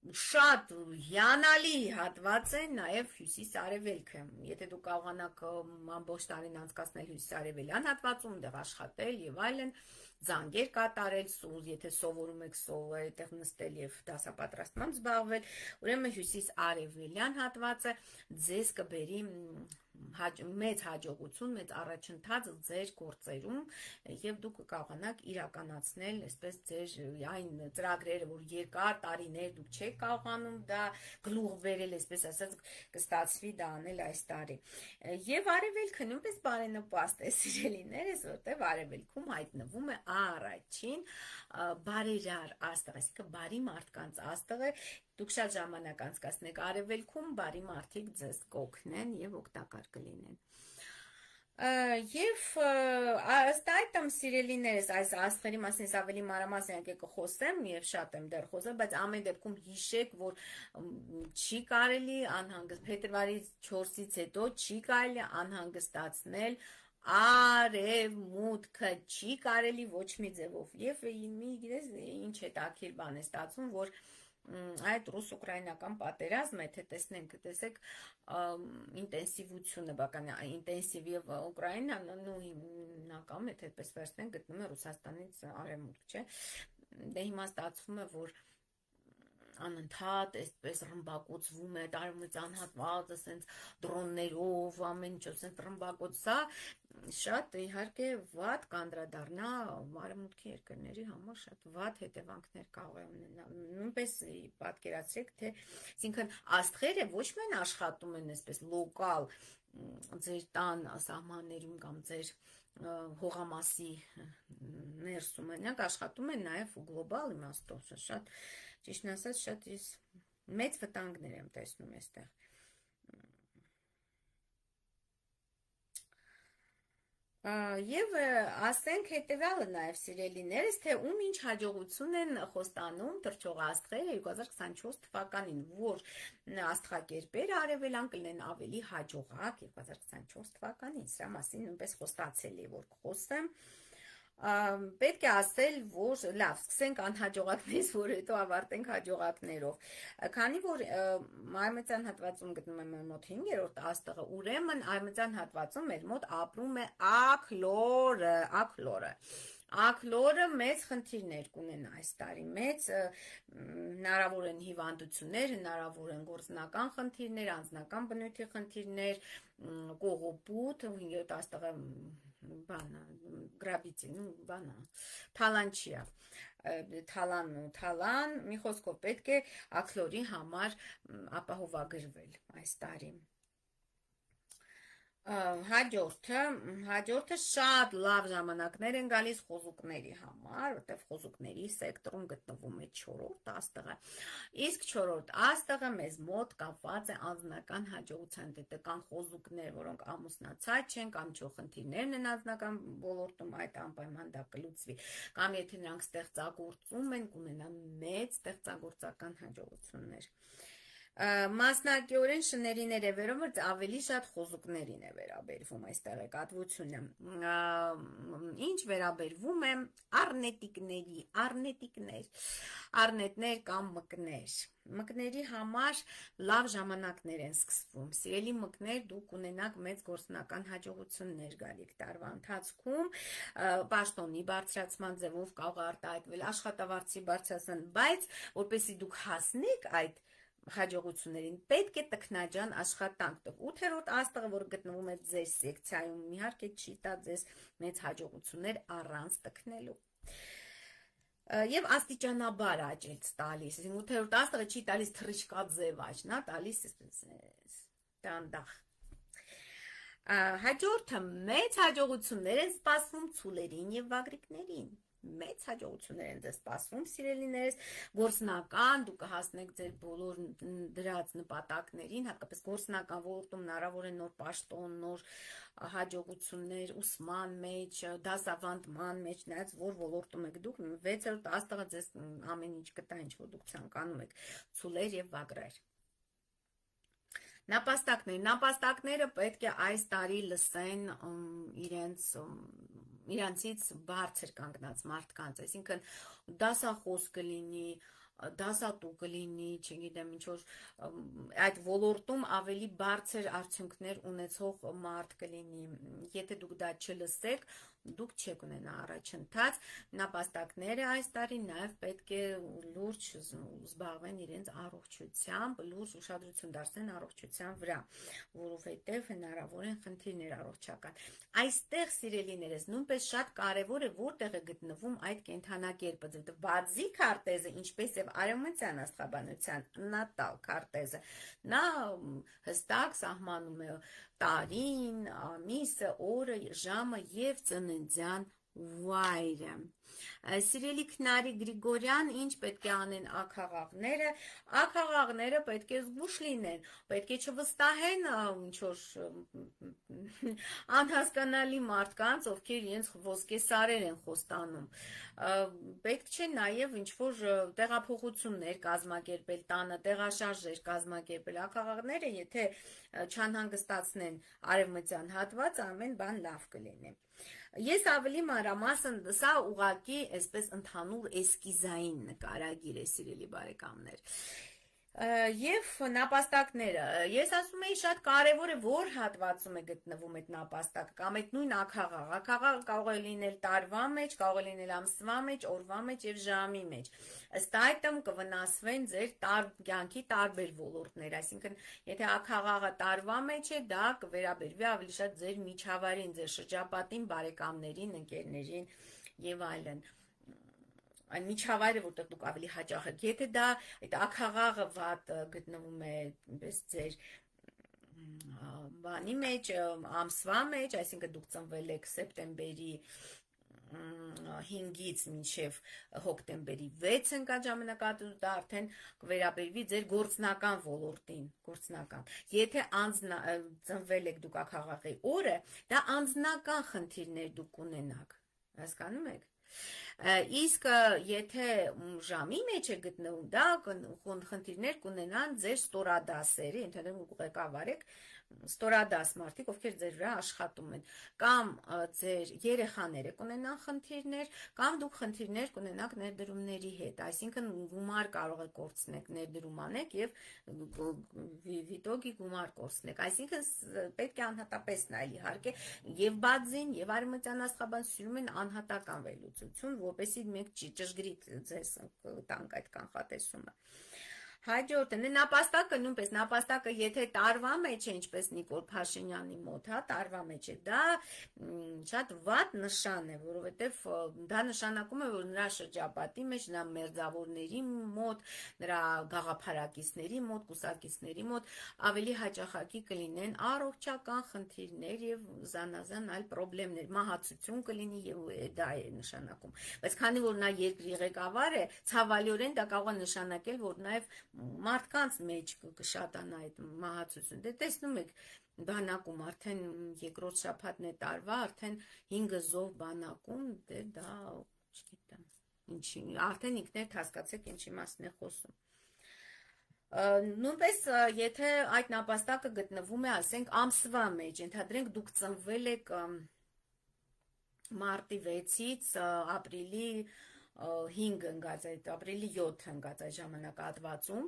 շատ հիանալի հատված է նաև հյուսիս-արևելքը։ Եթե դուք կարողանաք ամբողջ տարին անցկացնել հյուսիս-արևելյան հատվածում, դեղ աշխատել եւ այլն, զանգեր կատարել, եթե սովորում եք այդտեղ նստել եւ դասապատրաստմամբ զբաղվել, ուրեմն հյուսիս-արևելյան հատվածը ձեզ կբերի մեծ հաջողություն, մեծ առաջընթաց ձեր գործերում եւ դուք կկարողանաք իրականացնել այսպես ձեր այն ծրագրերը, որ երկար տարիներ դուք չեք կարողանում դա գլուխ բերել, այսպես ասած, կստացվի դա անել այս տարի։ Եվ արևելքը նույնպես բարենպաստ է, սիրելիներս, որտեղ արևելքում հայտնվում է առաջին բարերար աստղը, այսինքն բարի մարդկանց աստղը, դուք շատ ժամանակ անցկացնեք արևելքում, բարի մարդիկ ձեզ կօգնեն եւ օգտակար կլինեն։ Եվ ըստ այդմ սիրելիներս այս աստղերի մասին ավելի մանրամասն եկեք կխոսեմ եւ շատ եմ դեռ խոսել, բայց ամեն դեպքում հիշեք, որ չի կարելի անհանգստ փետրվարի չորսից հետո չի կարելի անհանգստացնել արևմուտքը, չի կարելի ոչ մի ձևով։ Եվ մի գիտես ինչ հետաքրքիր բան է ստացվում, որ այդ ռուս-ուկրաինական պատերազմը, եթե տեսնենք, տեսեք ինտենսիվությունը, բական ինտենսիվ եւ Ուկրաինան, նույն հիմնական, եթե այդպես վերցնենք, գտնում է Ռուսաստանից արևմուտք, չէ։ Դե հիմա ստացվում է, որ անընդհատ այսպես ռմբակոծվում է տարումից անհատված, ասենց դրոններով, ամեն ինչ ասենց ռմբակոծ, սա շատ իհարկե վատ կանդրադառնա արևմուտքի երկրների համար, շատ վատ հետևանքներ կարող է ունենալ։ Նույնպես պատկերացրեք, թե այսինքն աստղերը ոչ միայն աշխատում են այսպես լոկալ ձեր տան սահմաններում կամ ձեր հողամասի ներսում, այնք աշխատում են նաև գլոբալ իմաստով, շատ ճիշտն ասած, շատ ես մեծ վտանգներ եմ տեսնում այստեղ։ Եվ ասենք հետևյալը նաև սիրելիներս, թե ում ինչ հաջողություն են խոստանում թռչողաստղերը երկու հազար քսանչորս թվականին, որ աստղակերպերը արևելյան կլինեն ավելի հաջողակ երկու հազար քսանչորս թվականին, սրա մասին նույնպես խոստացել է, որ կխոսեմ։ Պետք է ասել, որ լավ, սկսենք անհաջողակներից, որ հետո ավարտենք հաջողակներով։ Քանի որ արևմտյան հատվածում գտնում եմ մեր մոտ հինգերորդ աստղը, ուրեմն արևմտյան հատվածում մեր մոտ ապրում է աքլորը, աքլորը։ Աքլորը մեծ խնդիրներ կունենա այս տարի, մեծ հնարավոր են հիվանդություններ, հնարավոր են գործնական խնդիրներ, անձնական բնույթի խնդիրներ, կողոպուտ, հինգերորդ աստղը բանա, գրաբիցին, բանա, թալանչիա, թալան, թալան, մի խոսքով պետք է աքլորի համար ապահովագրվել այս տարի։ Հաջորդը, հաջորդը շատ լավ ժամանակներ են գալիս խոզուկների համար, որտեղ խոզուկների սեկտորում գտնվում է չորրորդ աստղը, իսկ չորրորդ աստղը մեզ մոտ կապված է անձնական հաջողության հետ, կան խոզուկներ, որոնք ամուսնացած չեն կամ չոխնդիրներն են անձնական ոլորտում, այդ անպայման դա կլուծվի, կամ եթե նրանք ստեղծագործում են, կունենան մեծ ստեղծագործական հաջողություններ։ Մասնակիորեն շներին է վերաբերվում, ավելի շատ խոզուկներին է վերաբերվում այս տեղեկատվությունը։ Ինչ վերաբերվում է առնետիկների, առնետիկներ, առնետներ կամ մկներ։ Մկների համար լավ ժամանակներ են սկսվում։ Սիրելի մկներ, դուք ունենաք մեծ գործնական հաջողություններ գալիք տարվա ընթացքում, պաշտոնի բարձրացման ձևով կարող արտահայտվել աշխատավարձի բարձրացման, բայց որպեսզի դուք հասնեք այդ հաջողություններին, պետք է տքնաջան աշխատանք տով։ Ութերորդ աստղը, որ գտնվում է ձեր սեկցիայում, իհարկե չի տա ձեզ մեծ հաջողություններ առանց տքնելու։ Եվ աստիճանաբար աճ է տալիս, ութերորդ աստղը չի տալիս թռիչքա ձև աճ, նա տալիս դանդաղ։ Հաջորդը մեծ հաջողություններ են սպասվում ցուլերին եւ վագրիկներին։ մեծ հաջողություններ են ձեզ սպասվում, սիրելիներս, գործնական, դուք կհասնեք ձեր բոլոր դրած նպատակներին, հատկապես գործնական ոլորտում հնարավոր է նոր պաշտոն, նոր հաջողություններ ուսման մեջ, դասավանդման մեջ, նայած որ ոլորտում եք դուք, վեցերորդ աստղը ձեզ ամեն ինչ կտա, ինչ որ դուք ցանկանում եք, ցուլեր եւ վագրեր։ Նապաստակներ, նապաստակները պետք է այս տարի լսեն իրենց իրանցից բարձր կանգնած մարդկանց, այսինքն դասախոս կլինի, դասատու կլինի, չգիտեմ ինչ որ այդ ոլորտում ավելի բարձր արդյունքներ ունեցող մարդ կլինի, եթե դուք դա չլսեք, դուք չեք ունենա առաջընթաց, նապաստակները այս տարի նաև պետք է լուրջ զբաղվեն իրենց առողջությամբ, լուրջ ուշադրություն դարձնեն առողջության վրա, որովհետև հնարավոր են խնդիրներ առողջական։ Այստեղ, սիրելիներս, նույնպես շատ կարևոր է որտեղ է գտնվում այդ կենդանակերպը, բարձի քարտեզը, ինչպես եւ արևմտյան աստղաբանության նատալ քարտեզը, նա հստակ սահմանում է տարին, ամիսը, օրը, ժամը եւ ծննդյան վայրը։ Սիրելի Քնարի Գրիգորյան, ինչ պետք է անեն աքաղաղները, աքաղաղները պետք է զգուշ լինեն, պետք է չվստահեն ինչ-որ անհասկանալի մարդկանց, ովքեր իրենց ոսկե սարեր են խոստանում, պետք չէ նաև ինչ-որ տեղափոխություններ կազմակերպել, տանը տեղաշարժեր կազմակերպել, աքաղաղները, եթե չանհանգստացնեն արևմտյան հատված, ամեն բան լավ կլինի։ Ես ավելի մանրամասն, սա ուղղակի այսպես ընդհանուր էսկիզային նկարագիր է, սիրելի բարեկամներ։ Եվ նապաստակները, ես ասում եի շատ կարևոր է որ հատվածում է գտնվում այդ նապաստակը, կամ այդ նույն աքաղաղ, աքաղաղ կարող է լինել տարվա մեջ, կարող է լինել ամսվա մեջ, օրվա մեջ եւ ժամի մեջ, ըստ այդմ կվնասվեն ձեր կյանքի տարբեր ոլորտներ, այսինքն եթե աքաղաղը տարվա մեջ է, դա կվերաբերվի ավելի շատ ձեր միջավայրին, ձեր շրջապատին, բարեկամներին, ընկերներին եւ այլն, այն միջավայրը, որտեղ դուք ավելի հաճախ եք, եթե դա այդ աքաղաղը վատ գտնվում է պես ձեր բանի մեջ, ամսվա մեջ, այսինքն դուք ծնվել եք սեպտեմբերի հինգից մինչև հոկտեմբերի վեցը ընկած ժամանակահատվածում, դա արդեն կվերաբերվի ձեր գործնական ոլորտին, գործնական։ Եթե ծնվել եք դուք աքաղաղի օրը, դա անձնական խնդիրներ դուք ունենաք, հասկանում եք։ Իսկ եթե ժամի մեջ է գտնվում, դա խնդիրներ կունենան ձեր ստորադասերի, ընդհանրեն ղեկավար եք, ստորադաս մարդիկ, ովքեր ձեր վրա աշխատում են, կամ ձեր երեխաները կունենան խնդիրներ, կամ դուք խնդիրներ կունենաք ներդրումների հետ, այսինքն գումար կարող եք կորցնեք, ներդրում անեք եւ վիտոգի գումար կորցնեք, այսինքն պետք է անհատապես նայել իհարկե, եւ բadzին, եւ արևմտյան աստղաբանությունում են անհատական վերլուծություն, որպեսզի մենք ճշգրիտ ձեզ տանք այդ կանխատեսումը։ Հաջորդը, նապաստակը նույնպես, նապաստակը եթե տարվա մեջ է, ինչպես Նիկոլ Փաշինյանի մոտ, հա, տարվա մեջ է, դա շատ վատ նշան է, որովհետև դա նշանակում է, որ նրա շրջապատի մեջ, նրա մերձավորների մոտ, նրա գաղափարակիցների մոտ, կուսակիցների մոտ ավելի հաճախակի կլինեն առողջական խնդիրներ եւ զանազան այլ խնդիրներ, մահացություն կլինի եւ դա է նշանակում։ Բայց քանի որ նա երկրի ղեկավար է, ցավալիորեն դա կարող է նշանակել, որ նաեւ մարդկանց մեջ կշատանա այդ մահացություն, դե տեսնում եք բանակում արդեն երկրորդ շաբաթն է տարվա, արդեն հինգ զոհ բանակում, դե դա, չգիտեմ, ինչի, արդեն ինքներդ հասկացեք ինչի մասն է խոսում։ Նույնպես եթե այդ նապաստակը գտնվում է, ասենք ամսվա մեջ, ենթադրենք դուք ծնվել եք մարտի վեցից ապրիլի հինգ ընկած այդ ապրիլի յոթ ընկած այդ ժամանակահատվածում,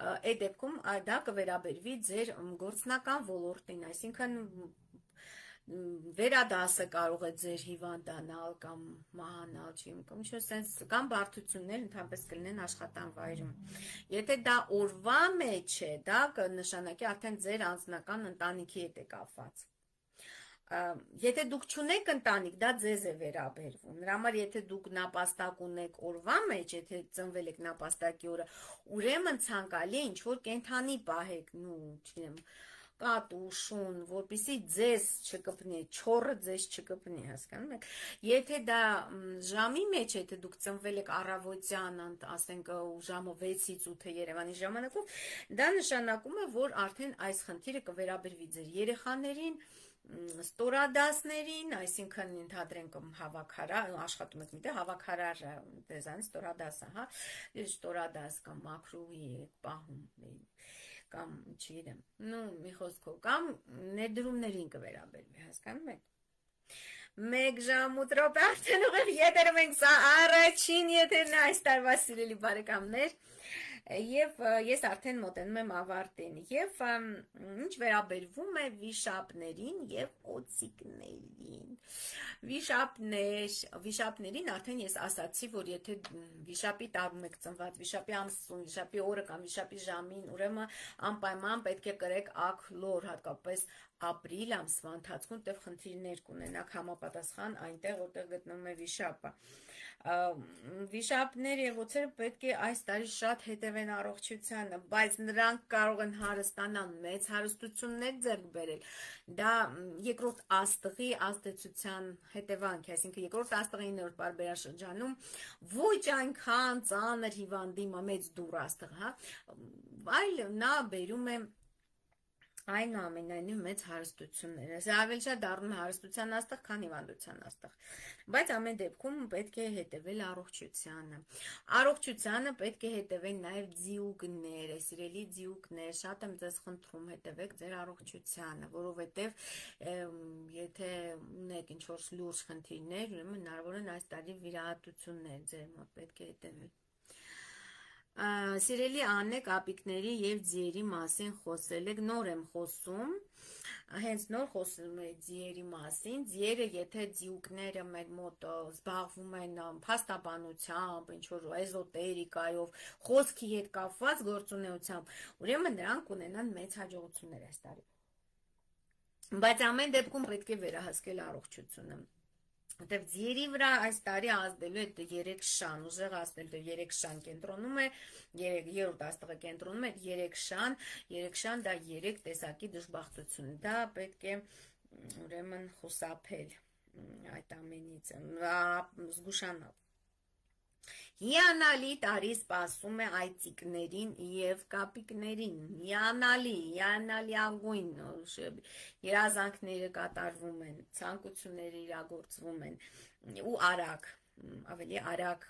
այդ դեպքում դա կվերաբերվի ձեր գործնական ոլորտին, այսինքն վերադասը կարող է ձեր հիվանդանալ կամ մահանալ, կամ ինչ-որ սենց, կամ բարդություններ ընդհանրապես կլինեն աշխատանվայրում։ Եթե դա օրվա մեջ է, դա կնշանակի արդեն ձեր անձնական ընտանիքի հետ է կապված։ Եթե դուք չունեք ընտանիք, դա ձեզ է վերաբերվում, նրա համար եթե դուք նապաստակ ունեք օրվա մեջ, եթե ծնվել եք նապաստակի օրը, ուրեմն ցանկալի է ինչ-որ կենդանի պահեք, նու, չգիտեմ, կատու, շուն, որպեսզի ձեզ չկպնի, չորը ձեզ չկպնի, հասկանում եք։ Եթե դա ժամի մեջ, եթե դուք ծնվել եք առավոտյան, ասենք ժամը վեցից ութը Երևանի ժամանակով, դա նշանակում է, որ արդեն այս խնդիրը կվերաբերվի ձեր երեխաներին, ստորադասներին, այսինքն ենթադրենք հավաքարար, աշխատում եք միտեղ, հավաքարար դեզայն ստորադասը, հա, ստորադաս կամ մաքրուհի եք պահում, կամ չգիտեմ, նու մի խոսքով, կամ ներդրումներին կվերաբերվի, հասկանում եք։ Մեկ ժամ ութ րոպե արդեն ուղիղ եթերում ենք, սա առաջին եթերն է այս տարվա սիրելի բարեկամներ, եւ ես արդեն մոտենում եմ ավարտին, եւ ինչ վերաբերվում է վիշապներին եւ օծիկներին, վիշապներ, վիշապներին արդեն ես ասացի, որ եթե վիշապի տարում եք ծնված, վիշապի ամսուն, վիշապի օրը կամ վիշապի ժամին, ուրեմն անպայման պետք է կրեք աքլոր, հատկապես ապրիլ ամսվա ընթացքում տեղ խնդիրներ կունենաք համապատասխան այնտեղ, որտեղ գտնվում է վիշապը։ Վիշապները եւ օծերը պետք է այս տարի շատ հետևեն առողջությանը, բայց նրանք կարող են հարստանալ, մեծ հարստություններ ձեռք բերել։ Դա երկրորդ աստղի ազդեցության հետևանք է, այսինքն երկրորդ աստղի իններորդ պարբերաշրջանում ոչ այնքան ծանր հիվանդի մեծ դուռ աստղ, հա, այլ նա բերում է այնուամենայնիվ մեծ հարստություններ, այս ավելի շատ դառնում է հարստության աստղ, քան հիվանդության աստղ, բայց ամեն դեպքում պետք է հետևել առողջությանը, առողջությանը պետք է հետևեն նաև ձիուկները, սիրելի ձիուկներ, շատ եմ ձեզ խնդրում հետևեք ձեր առողջությանը, որովհետև եթե ունեք ինչ-որ լուրջ խնդիրներ, ուրեմն հնարավոր են այս տարի վիրահատություններ ձեր մոտ պետք է հետևել։ Սիրելի Աննե, կապիկների եւ ձիերի մասին խոսել եք, նոր եմ խոսում, հենց նոր խոսում է ձիերի մասին, ձիերը եթե ձիուկները մեր մոտ զբաղվում են փաստաբանությամբ, ինչ-որ էզոտերիկայով, խոսքի հետ կապված գործունեությամբ, ուրեմն նրանք ունենան մեծ հաջողություններ այս տարի։ Բայց ամեն դեպքում պետք է վերահսկել առողջությունը։ Որտեւ ձիերի վրա այս տարի ազդելու է երեք շան, ուժեղ ազդելու է երեք շան կենտրոնում է, երրորդ աստղը կենտրոնում է երեք շան, երեք շան դա երեք տեսակի դժբախտություն, դա պետք է ուրեմն խուսափել այդ ամենից, զգուշանալ։ Հիանալի տարի սպասում է այծիկներին եւ կապիկներին, հիանալի, հիանալի ագույն երազանքները կատարվում են, ցանկությունները իրագործվում են ու արագ, ավելի արագ,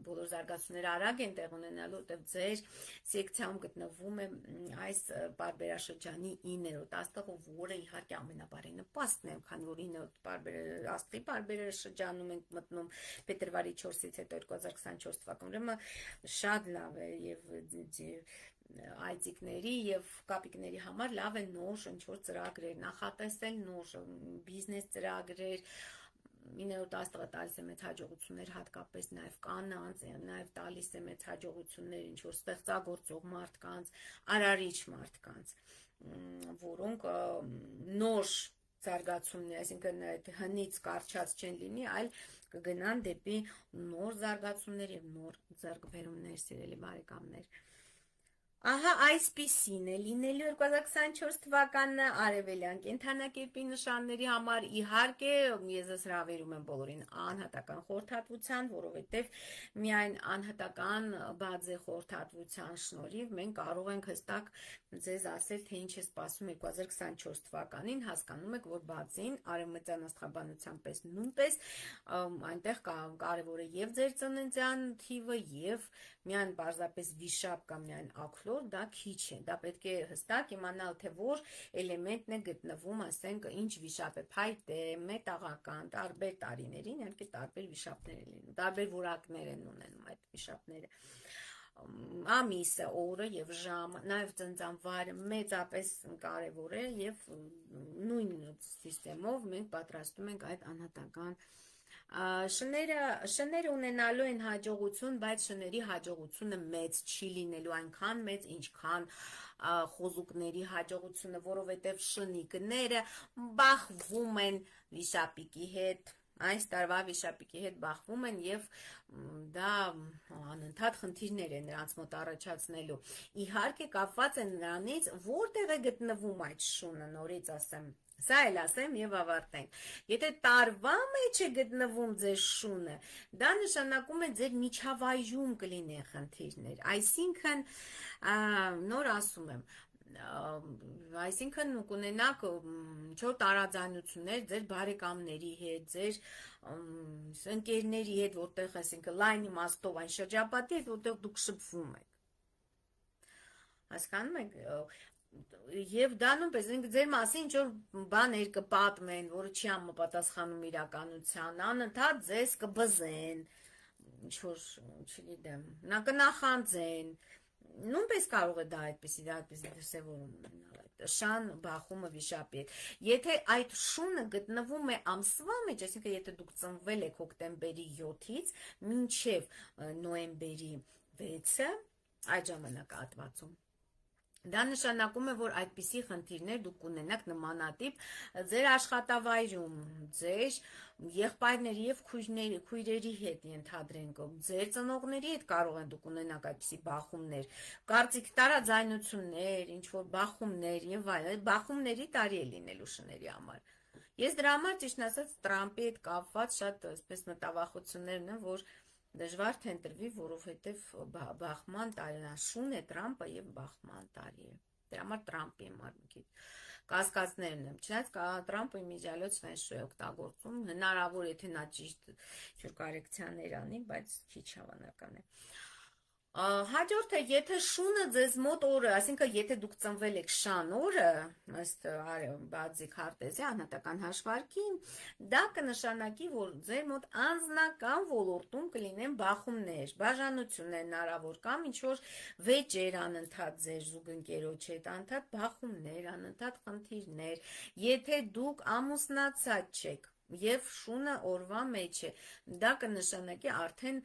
բոլոր զարգացումները արագ են տեղ ունենալու, որտեղ ձեր սեկցիայում գտնվում է այս պարբերաշրջանի իններորդ աստղը, որը իհարկե ամենաբարենպաստն է, քանի որ իններորդ աստղի պարբերաշրջանում ենք մտնում փետրվարի չորսից հետո երկու հազար քսանչորս թվական, ուրեմն շատ լավ է եւ այծիկների եւ կապիկների համար լավ է նոր ինչ-որ ծրագրեր նախատեսել, նոր բիզնես ծրագրեր, իններորդ աստղը տալիս է մեծ հաջողություններ, հատկապես նաև կանանց, նաև տալիս է մեծ հաջողություններ ինչ-որ ստեղծագործող մարդկանց, արարիչ մարդկանց, որոնք նոր զարգացումներ, այսինքն հնից կարճած չեն լինի, այլ կգնան դեպի նոր զարգացումներ եւ նոր ձեռքբերումներ, սիրելի բարեկամներ։ Ահա այսպիսին է լինելու երկու հազար քսանչորս թվականը արևելյան կենդանակերպի նշանների համար, իհարկե ես հրավիրում եմ բոլորին անհատական խորհրդատվության, որովհետև միայն անհատական բազե խորհրդատվության շնորհիվ մենք կարող ենք հստակ ձեզ ասել, թե ինչ է սպասում երկու հազար քսանչորս թվականին, հասկանում եք, որ բացին արևմտյան աստղաբանության պես նույնպես այնտեղ կարևոր է եւ ձեր ծննդյան թիվը եւ միայն պարզապես վիշապ կամ միայն աքլոր, դա քիչ է, դա պետք է հստակ իմանալ, թե որ էլեմենտն է գտնվում, ասենք, ինչ վիշապ է, փայտե, մետաղական, տարբեր տարիներին, իհարկե տարբեր վիշապներ են լինում, տարբեր որակներ են ունենում այդ վիշապները, ամիսը, օրը եւ ժամը, նաեւ ծնծանվարը մեծապես կարեւոր է եւ նույն սիստեմով մենք պատրաստում ենք այդ անհատական Շները, շները ունենալու են հաջողություն, բայց շների հաջողությունը մեծ չի լինելու այնքան մեծ, ինչքան խոզուկների հաջողությունը, որովհետև շնիկները բախվում են վիշապիկի հետ, այս տարվա վիշապիկի հետ բախվում են եւ դա անընդհատ խնդիրներ է նրանց մոտ առաջացնելու։ Իհարկե կապված է նրանից, որտեղ է գտնվում այդ շունը, նորից ասեմ։ Սա էլ ասեմ եւ ավարտենք։ Եթե տարվա մեջ է գտնվում ձեր շունը, դա նշանակում է ձեր միջավայրում կլինեն խնդիրներ։ Այսինքն, նոր ասում եմ, այսինքն կունենաք ինչ-որ տարաձայնություններ ձեր բարեկամների հետ, ձեր ընկերների հետ, որտեղ, այսինքն լայն իմաստով այն շրջապատի հետ, որտեղ դուք շփվում եք։ Հասկանում եք, եւ դա նույնպես ձեր մասին ինչ-որ բաներ կպատմեն, որը չի համապատասխանում իրականության, անընդհատ ձեզ կբզեն, ինչ-որ, չգիտեմ, նա կնախանձեն, նույնպես կարող է դա այդպեսի, դա այդպեսի դրսևորում ունենալ, շան բախումը վիշապի հետ։ Եթե այդ շունը գտնվում է ամսվա մեջ, այսինքն եթե դուք ծնվել եք հոկտեմբերի յոթից մինչև նոյեմբերի վեցը, այդ ժամանակահատվածում, դա նշանակում է, որ այդպիսի խնդիրներ դուք կունենաք նմանատիպ ձեր աշխատավայրում, ձեր եղբայրների եւ քույրերի հետ ենթադրենք, ձեր ծնողների հետ կարող են դուք ունենաք այդպիսի բախումներ, կարծիք տարաձայնություններ, ինչ որ բախումներ եւ այլն, բախումների տարի է լինելու շների համար։ Ես դրա համար ճիշտ ասած Տրամպի հետ կապված շատ այսպես մտավախություններն են, որ դժվար թե ընտրվի, որովհետև բախման տարի շուն է Տրամպը եւ բախման տարի է։ Դրա համար Տրամպի համար մի քիչ կասկածներն եմ։ Չնայած Տրամպը իմիջիալոց ֆենշույ է օգտագործում, հնարավոր է թե նա ճիշտ ինչ-որ կորեկցիաներ անի, բայց քիչ հավանական է։ Հաջորդը, եթե շունը ձեզ մոտ օրը, այսինքն եթե դուք ծնվել եք շան օրը, ըստ բացի քարտեզի անհատական հաշվարկի, դա կնշանակի, որ ձեր մոտ անձնական ոլորտում կլինեն բախումներ, բաժանություններ հնարավոր կամ ինչ-որ վեճեր անընդհատ ձեր զուգընկերոջ հետ, անընդհատ բախումներ, անընդհատ խնդիրներ, եթե դուք ամուսնացած չեք, եւ շունը օրվա մեջ է, դա կնշանակի արդեն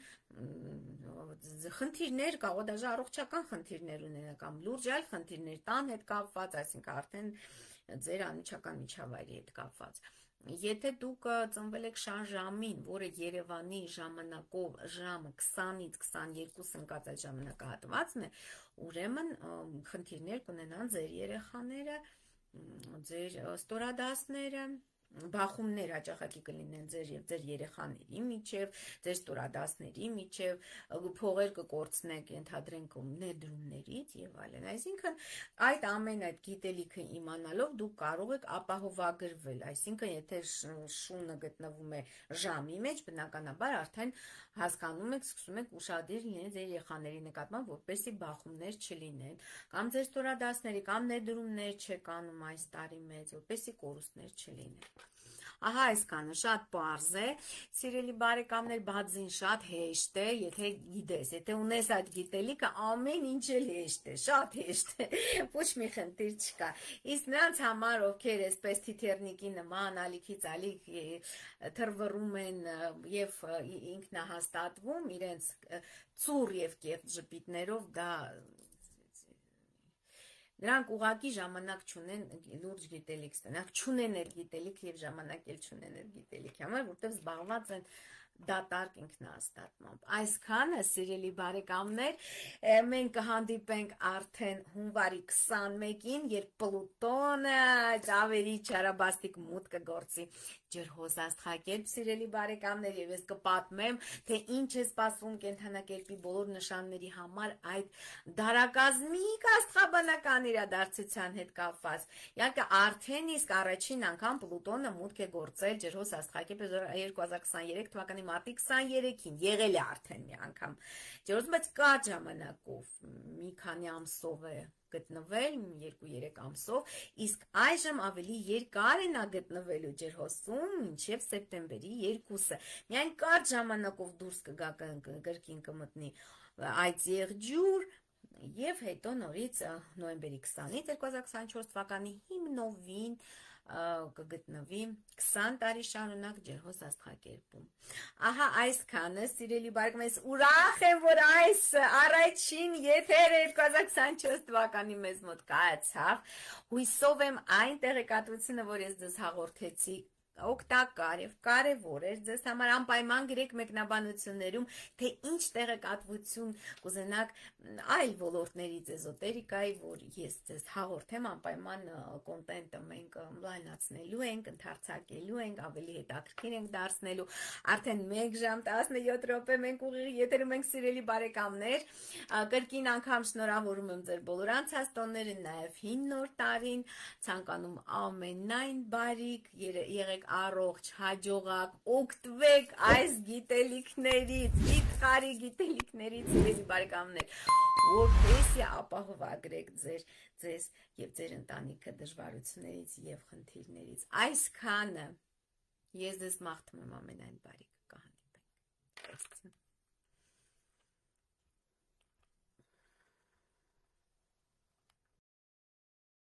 խնդիրներ կարող, դաժե առողջական խնդիրներ ունենա կամ լուրջ այլ խնդիրներ տան հետ կապված, այսինքն արդեն ձեր անմիջական միջավայրի հետ կապված։ Եթե դուք ծնվել եք շան ժամին, որը Երևանի ժամանակով ժամը քսանից քսաներկու ընկած այդ ժամանակահատվածն է, ուրեմն խնդիրներ կունենան ձեր երեխաները, ձեր ստորադասները, բախումներ հաճախակի կլինեն ձեր եւ ձեր երեխաների միջև, ձեր ստորադասների միջև, փողեր կկորցնեք, ենթադրենք ներդրումներից եւ այլն։ Այսինքն այդ ամեն այդ գիտելիքը իմանալով դուք կարող եք ապահովագրվել, այսինքն եթե շունը գտնվում է ժամի մեջ, բնականաբար արդեն հասկանում եք, սկսում եք ուշադիր լինել ձեր երեխաների նկատմամբ, որպեսզի բախումներ չլինեն, կամ ձեր ստորադասների կամ ներդրումներ չեք անում այս տարի մեծ, որպեսզի կորուստներ չլինեն։ Ահա այսքանը շատ պարզ է, սիրելի բարեկամներ, բացին շատ հեշտ է, եթե գիտես, եթե ունես այդ գիտելիքը, ամեն ինչ էլ հեշտ է, շատ հեշտ է, ոչ մի խնդիր չկա։ Իսկ նրանց համար, ովքեր այսպես թիթեռնիկի նման ալիքից ալիք թռվռում են եւ ինքնահաստատվում իրենց ծուռ եւ կեղծ ժպիտներով, դա Նրանք ուղղակի ժամանակ չունեն լուրջ գիտելիք ստանալ, չունեն էլ գիտելիք եւ ժամանակ էլ չունեն էլ գիտելիք, համար որտեղ զբաղված են դատարկ ինքնահաստատմամբ։ Այսքանը, սիրելի բարեկամներ, մենք կհանդիպենք արդեն հունվարի քսանմեկին, երբ Պլուտոնը ավելի չարաբաստիկ մուտք կգործի ջրհոսաստղակերպ, սիրելի բարեկամներ, եւ ես կպատմեմ, թե ինչ է սպասվում կենդանակերպի բոլոր նշանների համար այդ դարակազմիկ աստղաբանական իրադարձության հետ կապված։ Իհարկե, արդեն իսկ առաջին անգամ Պլուտոնը մուտք է գործել ջրհոսաստղակերպ երկու հազար քսաներեք թվականի մարտի քսաներեքին, եղել է արդեն մի անգամ ջրհոս, բայց կա ժամանակով, մի քանի ամսով է գտնվել, երկու-երեք ամսով, իսկ այժմ ավելի երկար է նա գտնվելու ջրհոսում մինչև սեպտեմբերի երկուսը։ Միայն կարճ ժամանակով դուրս կգա կրկին կմտնի այդ եղջյուր եւ հետո նորից նոյեմբերի քսանից երկու հազար քսանչորս թվականի հիմնովին կգտնվի քսան տարի շարունակ ջրհոսաստղակերպում։ Ահա այսքանը, սիրելի բարեկամներ, ուրախ եմ, որ այս առաջին եթերը երկու հազար քսանչորս թվականի մեզ մոտ կայացավ։ Հույսով եմ այն տեղեկատվությունը, որ ես ձեզ հաղորդեցի, օգտակար եւ կարեւոր էր ձեզ համար անպայման գրեք մեկնաբանություններում, թե ինչ տեղեկատվություն կուզենաք այլ ոլորտներից էզոտերիկայի, որ ես ձեզ հաղորդեմ, անպայման կոնտենտը մենք լայնացնելու ենք, ընդարձակելու ենք, ավելի հետաքրքիր ենք դարձնելու։ Արդեն մեկ ժամ տասնյոթ րոպե մենք ուղիղ եթերում ենք, սիրելի բարեկամներ, կրկին անգամ շնորհավորում եմ ձեր բոլոր անցած տոնները, նաեւ հին նոր տարին, ցանկանում ամենայն բարիք, եղեք առողջ, հաջողակ, օգտվեք այս գիտելիքներից, վիթխարի գիտելիքներից, սիրելի բարեկամներ, որպեսզի ապահովագրեք ձեր ձեզ եւ ձեր ընտանիքը դժվարություններից եւ խնդիրներից։ Այսքանը ես ձեզ մաղթում եմ ամենայն բարիք, կհանդիպենք։